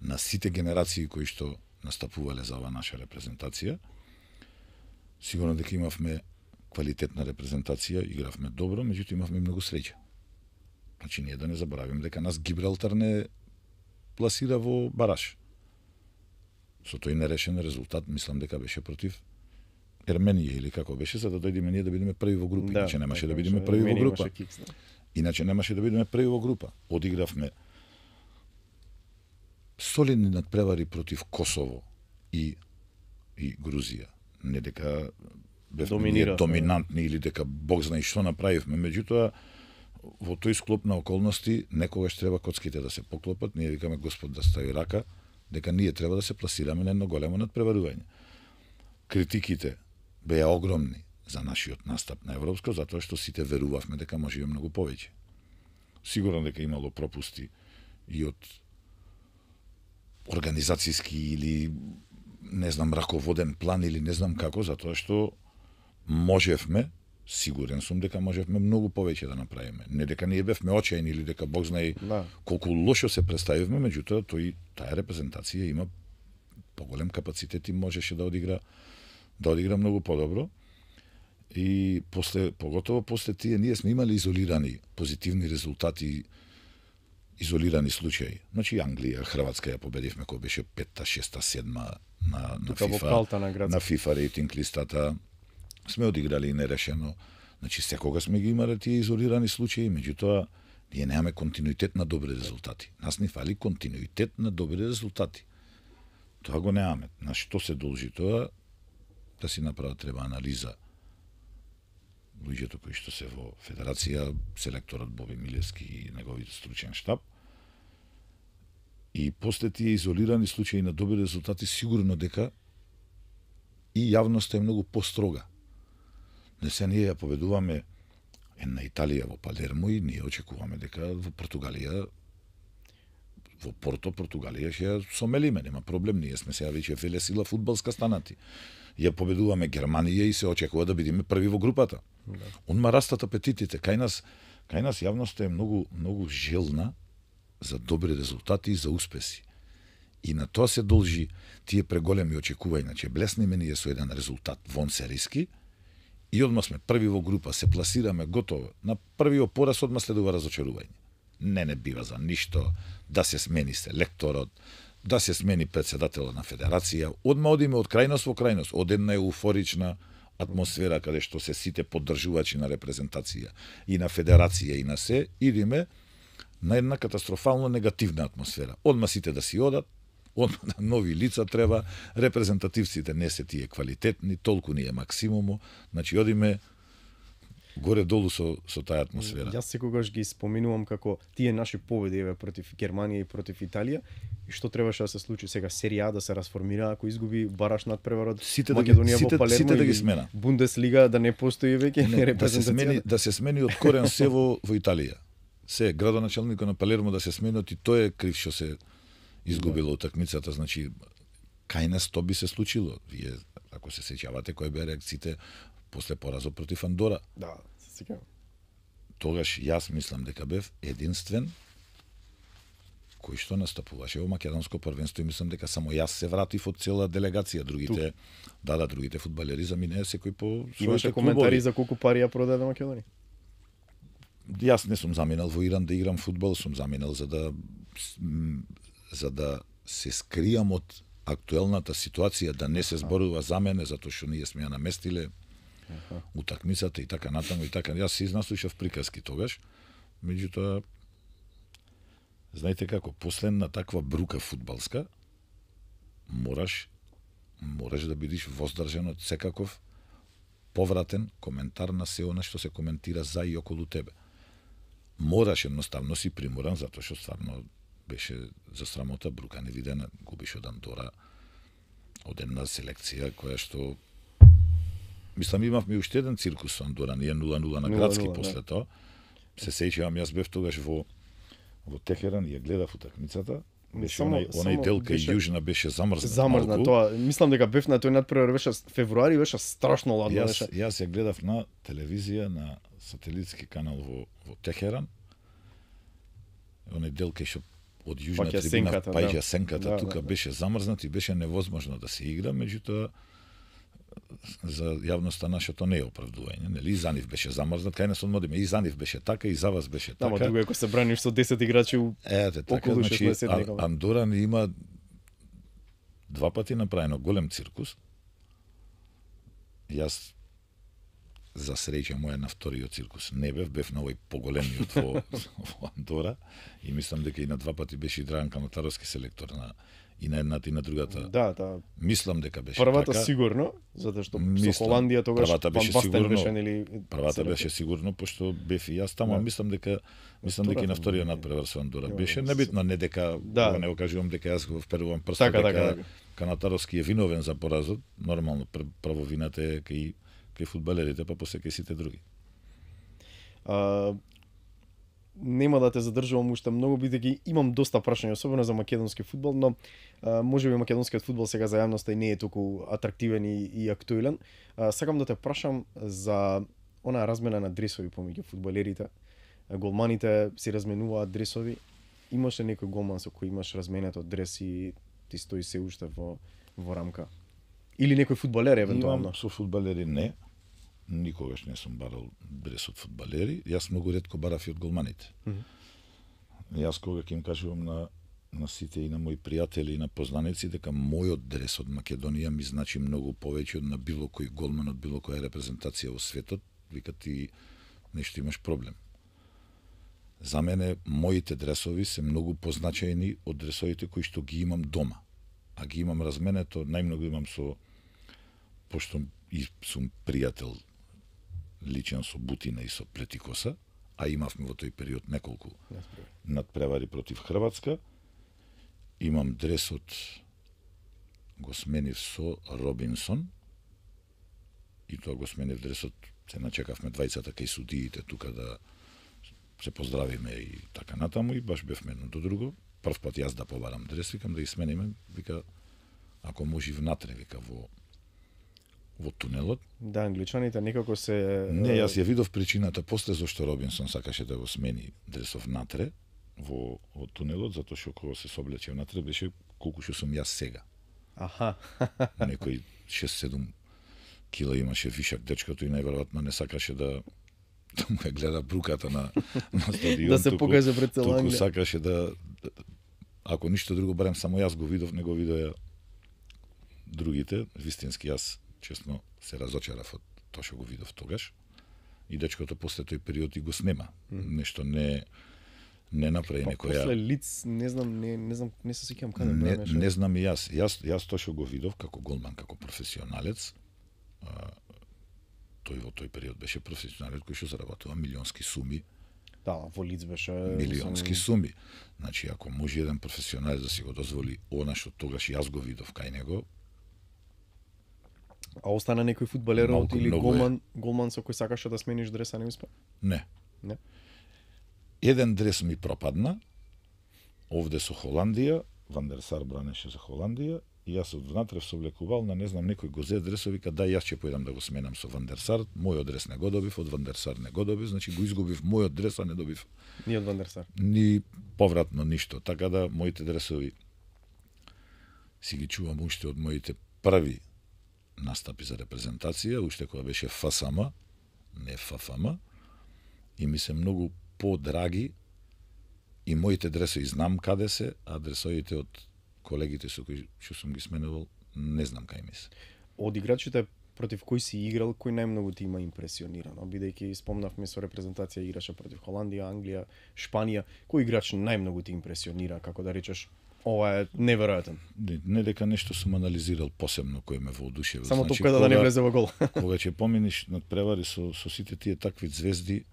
на сите генерации кои што настапувале за оваа наша репрезентација. Сигурно дека имавме квалитетна репрезентација, игравме добро, меѓутоа имавме многу среќа. Значи ние да не заборавим дека нас Гибралтар не пласира во бараш. Со тој нерешен резултат, мислам дека беше против Ерменија или како беше, за да дојдеме ние да бидеме први во група. Да, иначе немаше да бидеме први во група. Кикс, да. Иначе немаше да бидеме први во група. Одигравме солидни надпревари против Косово и и Грузија. Не дека бевме доминантни или дека Бог знае што направивме, меѓутоа во тој склоп на околности некогаш треба коцките да се поклопат, ние викаме Господ да стави рака, дека ние треба да се пласираме на едно големо надпреварување. Критиките беа огромни за нашиот настап на европско, затоа што сите верувавме дека можеме многу повеќе. Сигурно дека имало пропусти и од организацијски или не знам раководен план или не знам како, затоа што можевме, сигурен сум дека можевме многу повеќе да направиме. Не дека ние бевме очајни или дека Бог знае да. Колку лошо се представивме, меѓутоа тој таа репрезентација има поголем капацитет и можеше да одигра да одигра многу подобро. И после, поготово после тие, ние сме имали изолирани позитивни резултати, изолирани случаи. Значи Англија, Хрватска ја победивме кој беше петта, шеста, седма на на FIFA, на, на FIFA рейтинг листата. Сме одиграли и нерешено. Значи секога сме ги имале тие изолирани случаи, меѓутоа ние немаме континуитет на добри резултати. Нас ни фали континуитет на добри резултати. Тоа го немаме. На што се должи тоа? Да си направа треба анализа луѓето кои што се во федерација, селекторот Боби Милевски и неговиот стручен штаб. И после тие изолирани случаи на добри резултати, сигурно дека и јавноста е многу построга. Не се ние ја победуваме на Италија во Палермо и ние очекуваме дека во Португалија, во Порто, Португалија ќе ја сомелиме, нема проблем, ние сме сега веќе велесила фудбалска станати. Ја победуваме Германија и се очекува да бидеме први во групата. Да. Онма растат апетитите, кај нас, кај нас јавноста е многу многу желна за добри резултати и за успеси. И на тоа се должи тие преголеми очекувања, значи блесниме ние со еден резултат вон сериски и одма сме први во група, се пласираме готово. На првиот пораз одма следува разочарување. Не не бива за ништо да се смени селекторот, да се смени председателот на федерација, одма одиме од крајност во крајност, од една еуфорична атмосфера каде што се сите поддржувачи на репрезентација и на федерација и на се, идиме на една катастрофално негативна атмосфера. Одма сите да си одат, одма на нови лица треба, репрезентативците не се тие квалитетни, толку ни е максимумо, значи одиме горе-долу со, со таа атмосфера. Јас секогаш ги споминувам како тие наши победи еве против Германија и против Италија, и што требаше да се случи сега серија А да се расформира, ако изгуби бараш надпреварот сите да ги, Македонија сите, во Палермо, сите да ги смена. Бундеслига да не постои веќе репрезентација. Да се смени, да се смени од корен се во, во Италија. Се градоначалникот на Палермо да се смени, и тој е крив што се изгубило утакмицата, значи кај нас тоа би се случило. Вие ако се сеќавате кој беа реакциите после поразот против Андора. Да, се сеќавам. Тогаш јас мислам дека бев единствен кој што настапуваше во македонско првенство и мислам дека само јас се вратив од цела делегација, другите Тук. да да другите фудбалери заминеа секој по своите Имаше клубови. коментари за колку пари ја продаде Македонија? Јас не сум заминал во Иран да играм фудбал, сум заминал за да за да се скријам од актуелната ситуација, да не се зборува за мене затоа што ние сме ја наместиле Аха. утакмицата и така натаму и така. Јас се изнаслушав приказки тогаш, меѓутоа знаете како, последна таква брука фудбалска, мораш мораш да бидеш воздржан од секаков повратен коментар на се она што се коментира за и околу тебе. Мораш едноставно си приморан, затоа што стварно беше за срамота брука невидена, губиш од Андора, од една селекција која што мислам имавме уште еден циркус со Андора, ние нула нула на градски после да. Тоа. Се сеќавам, јас бев тогаш во во Техеран и ја гледав утакмицата. Беше само, онај, онај дел кај беше... Јужна беше замрзнат. Замрзнат малку. Тоа. Мислам дека бев на тој надпревар беше февруари, беше страшно ладно јас, беше. Јас ја гледав на телевизија на сателитски канал во во Техеран. Онај дел кај што од јужна Паќа трибина сенката, паѓа да. сенката, Да, тука да, да. беше замрзнат и беше невозможно да се игра, меѓутоа за јавноста нашето не е оправдување, нели? И за нив беше замрзнат, кај нас одмодиме, и за нив беше така, и за вас беше така. Ама друго ако се браниш со десет играчи Ете, така, околу значи, шеснаесет а, некога. Андора ни има два пати направено голем циркус. Јас за среќа моја на вториот циркус не бев, бев на овој поголемиот во, во Андора и мислам дека и на два пати беше и Драган Канатаровски селектор на и на едната и на другата. Да, да. Мислам дека беше Првата така. сигурно, затоа што Мислам, со Холандија тогаш првата беше Ван Бастен сигурно, беше нели првата селектор. беше сигурно пошто бев и јас таму, Да. мислам дека мислам дека и на вториот надпревар со Андора Ја, беше се- небитно, не дека Да. да. не го кажувам дека јас го вперувам прстот Така, дека така, така. Канатаровски е виновен за поразот, нормално пр прво вината е кај кај фудбалерите, па после кај сите други. А, нема да те задржувам уште многу, бидејќи имам доста прашања, особено за македонски фудбал, но а, можеби македонскиот фудбал сега за јавноста и не е толку атрактивен и, и актуелен. А, сакам да те прашам за онаа размена на дресови помеѓу фудбалерите. А, голманите си разменуваат дресови. Имаше некој голман со кој имаш разменето дрес и ти стои се уште во во рамка? Или некој фудбалер евентуално? Имам со фудбалери не. Никогаш не сум барал дрес од фудбалери. Јас многу ретко барав и од голманите. Мгм. Јас кога ќе им кажувам на на сите и на мои пријатели и на познаници дека мојот дрес од Македонија ми значи многу повеќе од на било кој голман од било која репрезентација во светот, вика ти нешто имаш проблем. За мене моите дресови се многу позначајни од дресовите кои што ги имам дома. а ги имам разменето, најмногу имам со, пошто и сум пријател личен со Бутина и со Плетикоса, а имавме во тој период неколку надпревари против Хрватска. Имам дресот, го сменив со Робинсон, и тоа го сменив дресот, се начекавме двајцата кај судиите тука да се поздравиме и така натаму, и баш бевме едно до друго. Прв пат јас да побарам дрес, викам да ги смениме, вика, ако може внатре, вика, во во тунелот. Да, англичаните некако се... Не, јас ја видов причината после зашто Робинсон сакаше да го смени дресов внатре во, во тунелот, затоа што кога се соблече внатре беше колку што сум јас сега. Аха. Некој шест-седум кила имаше вишак дечкото и најверојатно не сакаше да да му ја гледа бруката на на стадион. Да се покаже пред цела Англија. Туку сакаше да, ако ништо друго, барем само јас го видов, не го видоа другите. Вистински јас честно се разочарав од тоа што го видов тогаш. И дечкото после тој период и го снема. Mm. Нешто не не направи некоја. После лиц, не знам, не не знам, не се сеќавам каде не, беше. Не знам и јас. Јас јас тоа што го видов како голман, како професионалец, а, тој во тој период беше професионалец кој што заработува милионски суми. Да, во лиц беше милионски суми. Значи, ако може еден професионалец да си го дозволи она што тогаш јас го видов кај него, а остана некој фудбалер Малку, или многу голман, голман со кој сакаше да смениш дреса, не успе? не. Не. Еден дрес ми пропадна, овде со Холандија, Ван дер Сар бранеше за Холандија, и јас од внатре се облекувал на не знам некој го зе дресови, вика да јас ќе појдам да го сменам со Ван дер Сар, мојот дрес не го добив, од Ван дер Сар не го добив, значи го изгубив мојот дрес, а не добив Ни од Ван дер Сар. ни повратно ништо. Така да моите дресови си ги чувам уште од моите први настапи за репрезентација, уште кога беше Ф С М, не Ф Ф М, и ми се многу подраги и моите дресови знам каде се, а дресовите од колегите со кои што сум ги сменувал, не знам кај ми се. Од играчите против кој си играл, кој најмногу ти има импресионирано? Бидејќи спомнавме со репрезентација играше против Холандија, Англија, Шпанија, кој играч најмногу ти импресионира, како да речеш, ова е неверојатен? Не, не дека нешто сум анализирал посебно кој ме воодушевил. Само значи, топката да не влезе во гол. Кога ќе поминиш над превари со со сите тие такви звезди,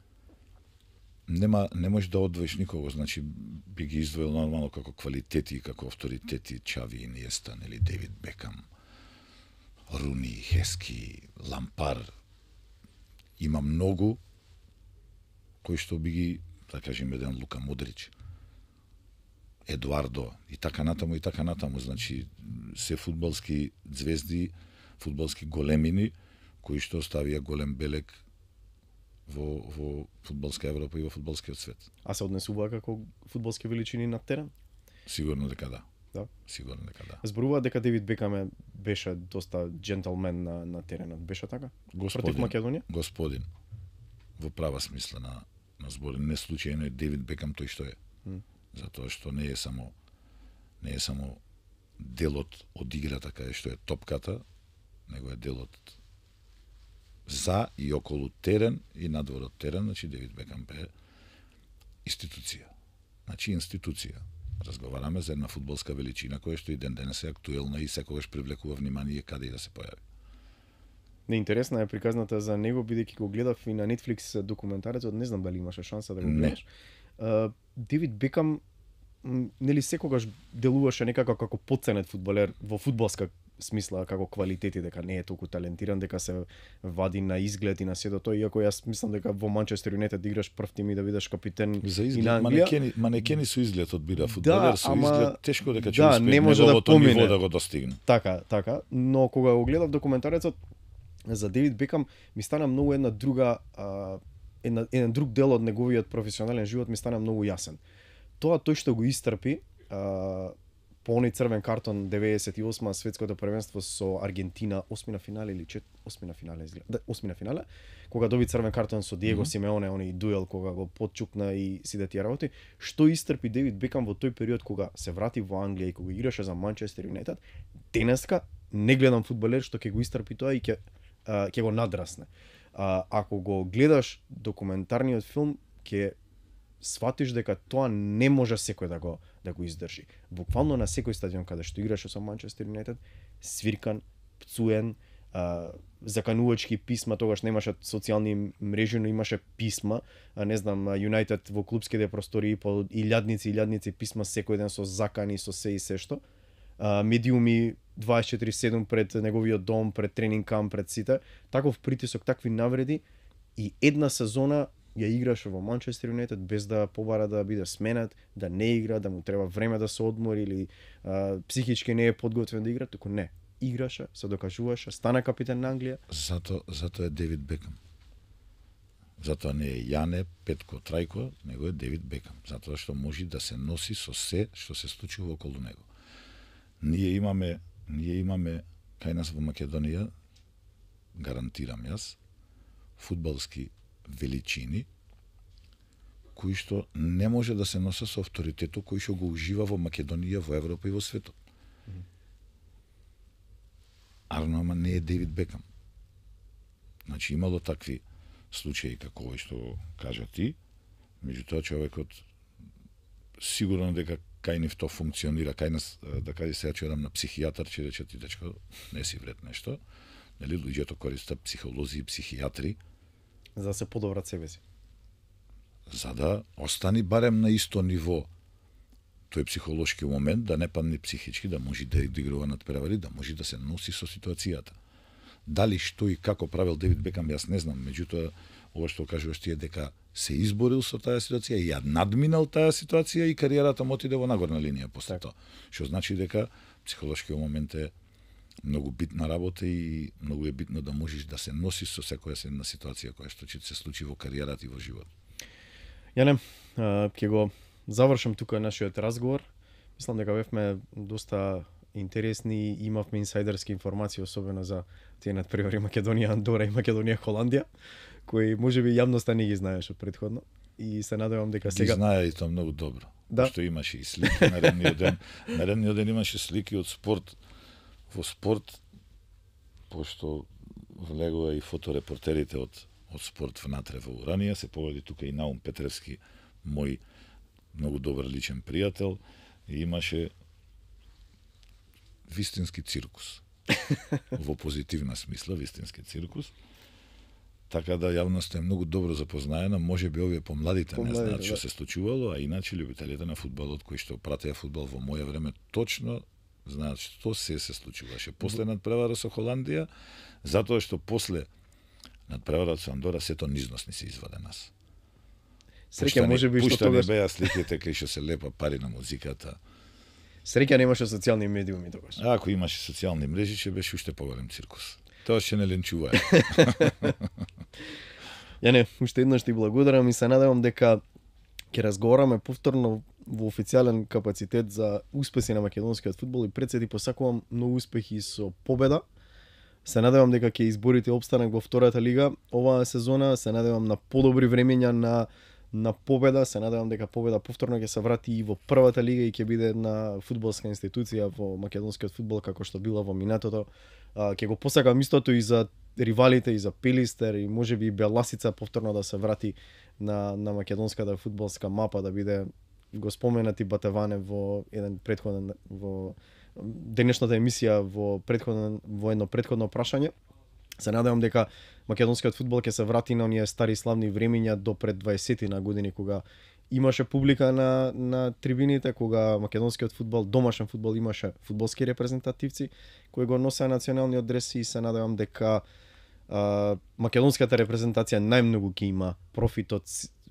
нема не можеш да одвоиш никого, значи би ги издвоил нормално како квалитети, како авторитети, Чави, Иниеста, нели Дейвид Бекам, Руни, Хески, Лампар. Има многу кои што би ги, да кажем, еден Лука Модрич, Едуардо и така натаму и така натаму, значи се фудбалски звезди, фудбалски големини кои што оставија голем белег во во фудбалска Европа и во фудбалскиот свет. А се однесува како фудбалски величини на терен? Сигурно дека да. Да. Сигурно дека да. Зборува дека Девид Бекам беше доста джентълмен на на теренот, беше така? Господин, Против Македонија? Господин. Во права смисла на на збор, не случајно е Девид Бекам тој што е. Mm. Затоа што не е само не е само делот од играта каде што е топката, него е делот за и околу терен и надвор од терен, значи Девид Бекам е институција. Значи институција. Разговараме за една фудбалска величина која што и ден денес е актуелна и секогаш привлекува внимание каде и да се појави. Неинтересна е приказната за него, бидејќи го гледав и на Netflix документарецот, не знам дали имаше шанса да го гледаш. Uh, Девид Бекам нели секогаш делуваше некако како потценет фудбалер во фудбалска смисла, како квалитети, дека не е толку талентиран, дека се вади на изглед и на сето тоа, иако јас мислам дека во Манчестер Юнайтед да играш прв тим и да бидеш капитен за изглед, и на Англија. Манекени, манекени со изглед одбира фудбалер, да, со ама, изглед тешко дека ќе да, успее не може да помине ниво да го достигне. Така, така, но кога го гледав документарецот за Девид Бекам, ми стана многу една друга а, една, еден друг дел од неговиот професионален живот ми стана многу јасен. Тоа тој што го истрпи а, по оној црвен картон деветдесет и осма светското првенство со Аргентина, осми на финале или чет, осми на финале изгледа, да, осми на финале, кога доби црвен картон со Диего mm -hmm. Симеоне, оној дуел кога го потчупна и сите тие работи, што истрпи Девид Бекам во тој период кога се врати во Англија и кога играше за Манчестер Юнайтед, денеска не гледам фудбалер што ќе го истрпи тоа и ќе uh, ќе го надрасне. Uh, ако го гледаш документарниот филм, ќе сватиш дека тоа не може секој да го да го издржи. Буквално на секој стадион каде што играше со Манчестер Юнайтед, свиркан, пцуен, а, заканувачки писма, тогаш немаше социјални мрежи, но имаше писма, а не знам, Юнайтед во клубските простори по илјадници илјадници писма секој ден со закани, со се и се што. А, медиуми дваесет и четири седум пред неговиот дом, пред тренинг камп, пред сите. Таков притисок, такви навреди и една сезона ја играше во Манчестер Юнайтед без да побара да биде сменет, да не игра, да му треба време да се одмори или а, психички не е подготвен да игра, туку не. Играше, се докажуваше, стана капитан на Англија. Зато, зато е Девид Бекам. Затоа не е Јане, Петко, Трајко, него е Девид Бекам. Затоа што може да се носи со се што се случува околу него. Ние имаме, ние имаме кај нас во Македонија, гарантирам јас, фудбалски величини кои што не може да се носа со авторитетот кој што го ужива во Македонија, во Европа и во светот. Арно, ама не е Девид Бекам. Значи, имало такви случаи како овој што кажа ти, меѓутоа човекот сигурно дека кај нив то функционира, кај нас, да кажи сега ќе одам на психијатар, ќе рече ти дечко, не си вред нешто. Нели, луѓето користат психолози и психијатри за да се подобрат себе си. За да остани барем на исто ниво тој психолошки момент, да не падне психички, да може да игрува надпревари, да може да се носи со ситуацијата. Дали што и како правил Девид Бекам, јас не знам, меѓутоа ова што кажуваш ти е дека се изборил со таа ситуација и ја надминал таа ситуација и кариерата му отиде во нагорна линија после така. тоа. Што значи дека психолошкиот момент е многу битна работа и многу е битно да можеш да се носиш со секоја една ситуација која што ќе се случи во кариерата и во живот. Јане, ќе го завршам тука нашиот разговор. Мислам дека бевме доста интересни и имавме инсайдерски информации, особено за тие надпревари Македонија, Андора и Македонија, Холандија, кои можеби јавноста не ги знаеше предходно. И се надевам дека сега... Ги знае и тоа многу добро. Да. Што имаше и слики наредниот ден. Наредниот ден имаше слики од спорт. Во спорт, пошто влегува и фоторепортерите од, од спорт внатре во Уранија, се поведи тука и Наум Петревски, мој многу добар личен пријател, и имаше вистински циркус. Во позитивна смисла, вистински циркус. Така да јавноста е многу добро запознаена, може би овие помладите не знаат што да. се случувало, а иначе љубителите на фудбалот кои што пратеа фудбал во моје време точно знаат што се се случуваше. После надпревара со Холандија, затоа што после надпреварата со Андора сето низносни се изваде нас. Среќа можеби што тогаш тогаш беа сликите кај што се лепа пари на музиката. среќа немаше социјални медиуми тогаш. А ако имаше социјални мрежи, ќе беше уште поголем циркус. Тоа ќе не ленчуваја. Јане, уште еднаш ти благодарам и се надевам дека ќе разговараме повторно во официјален капацитет за успеси на македонскиот фудбал и пред се ти посакувам многу успехи со победа. Се надевам дека ќе изборите опстанок во втората лига оваа сезона, се надевам на подобри времења на на победа, се надевам дека победа повторно ќе се врати и во првата лига и ќе биде една фудбалска институција во македонскиот фудбал како што била во минатото. А, ќе го посакам истото и за ривалите, и за Пелистер, и можеби и Беласица повторно да се врати на на македонската фудбалска мапа, да биде го споменати Батеване во еден претходен во денешната емисија во претходен во едно претходно прашање. Се надевам дека македонскиот фудбал ќе се врати на оние стари славни времиња до пред дваесет на години, кога имаше публика на на трибините, кога македонскиот фудбал, домашен фудбал, имаше фудбалски репрезентативци кои го носеа националниот дрес, и се надевам дека а, македонската репрезентација најмногу ќе има профит од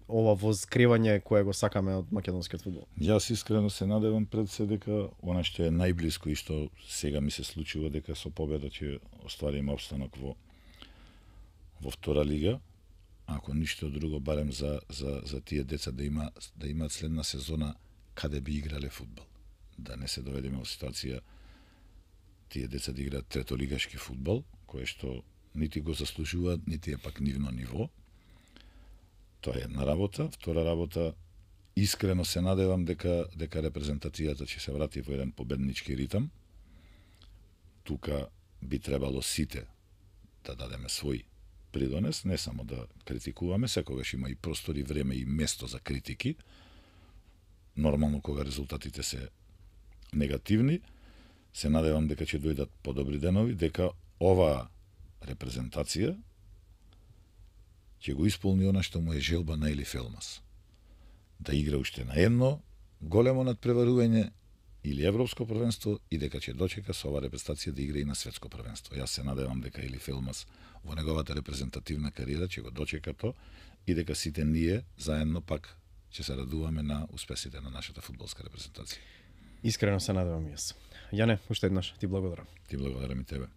ова воскревање кое го сакаме од македонскиот фудбал. Јас искрено се надевам пред се дека она што е најблиско и што сега ми се случува, дека со победа ќе оствариме опстанок во во втора лига, ако ништо друго, барем за за за тие деца да има да имаат следна сезона каде би играле фудбал. Да не се доведеме во ситуација тие деца да играат третолигашки фудбал, кое што нити го заслужуваат, нити е пак нивно ниво. Тоа е една работа. Втора работа, искрено се надевам дека дека репрезентацијата ќе се врати во еден победнички ритам. Тука би требало сите да дадеме свој придонес, не само да критикуваме, секогаш има и простор и време и место за критики. Нормално кога резултатите се негативни, се надевам дека ќе дојдат подобри денови, дека оваа репрезентација ќе го исполни она што му е желба на Елиф Елмас. Да игра уште на едно големо надпреварување или европско првенство и дека ќе дочека со оваа репрезентација да игра и на светско првенство. Јас се надевам дека Елиф Елмас во неговата репрезентативна кариера ќе го дочека то и дека сите ние заедно пак ќе се радуваме на успесите на нашата фудбалска репрезентација. Искрено се надевам и јас. Јане, уште еднаш ти благодарам. Ти благодарам и тебе.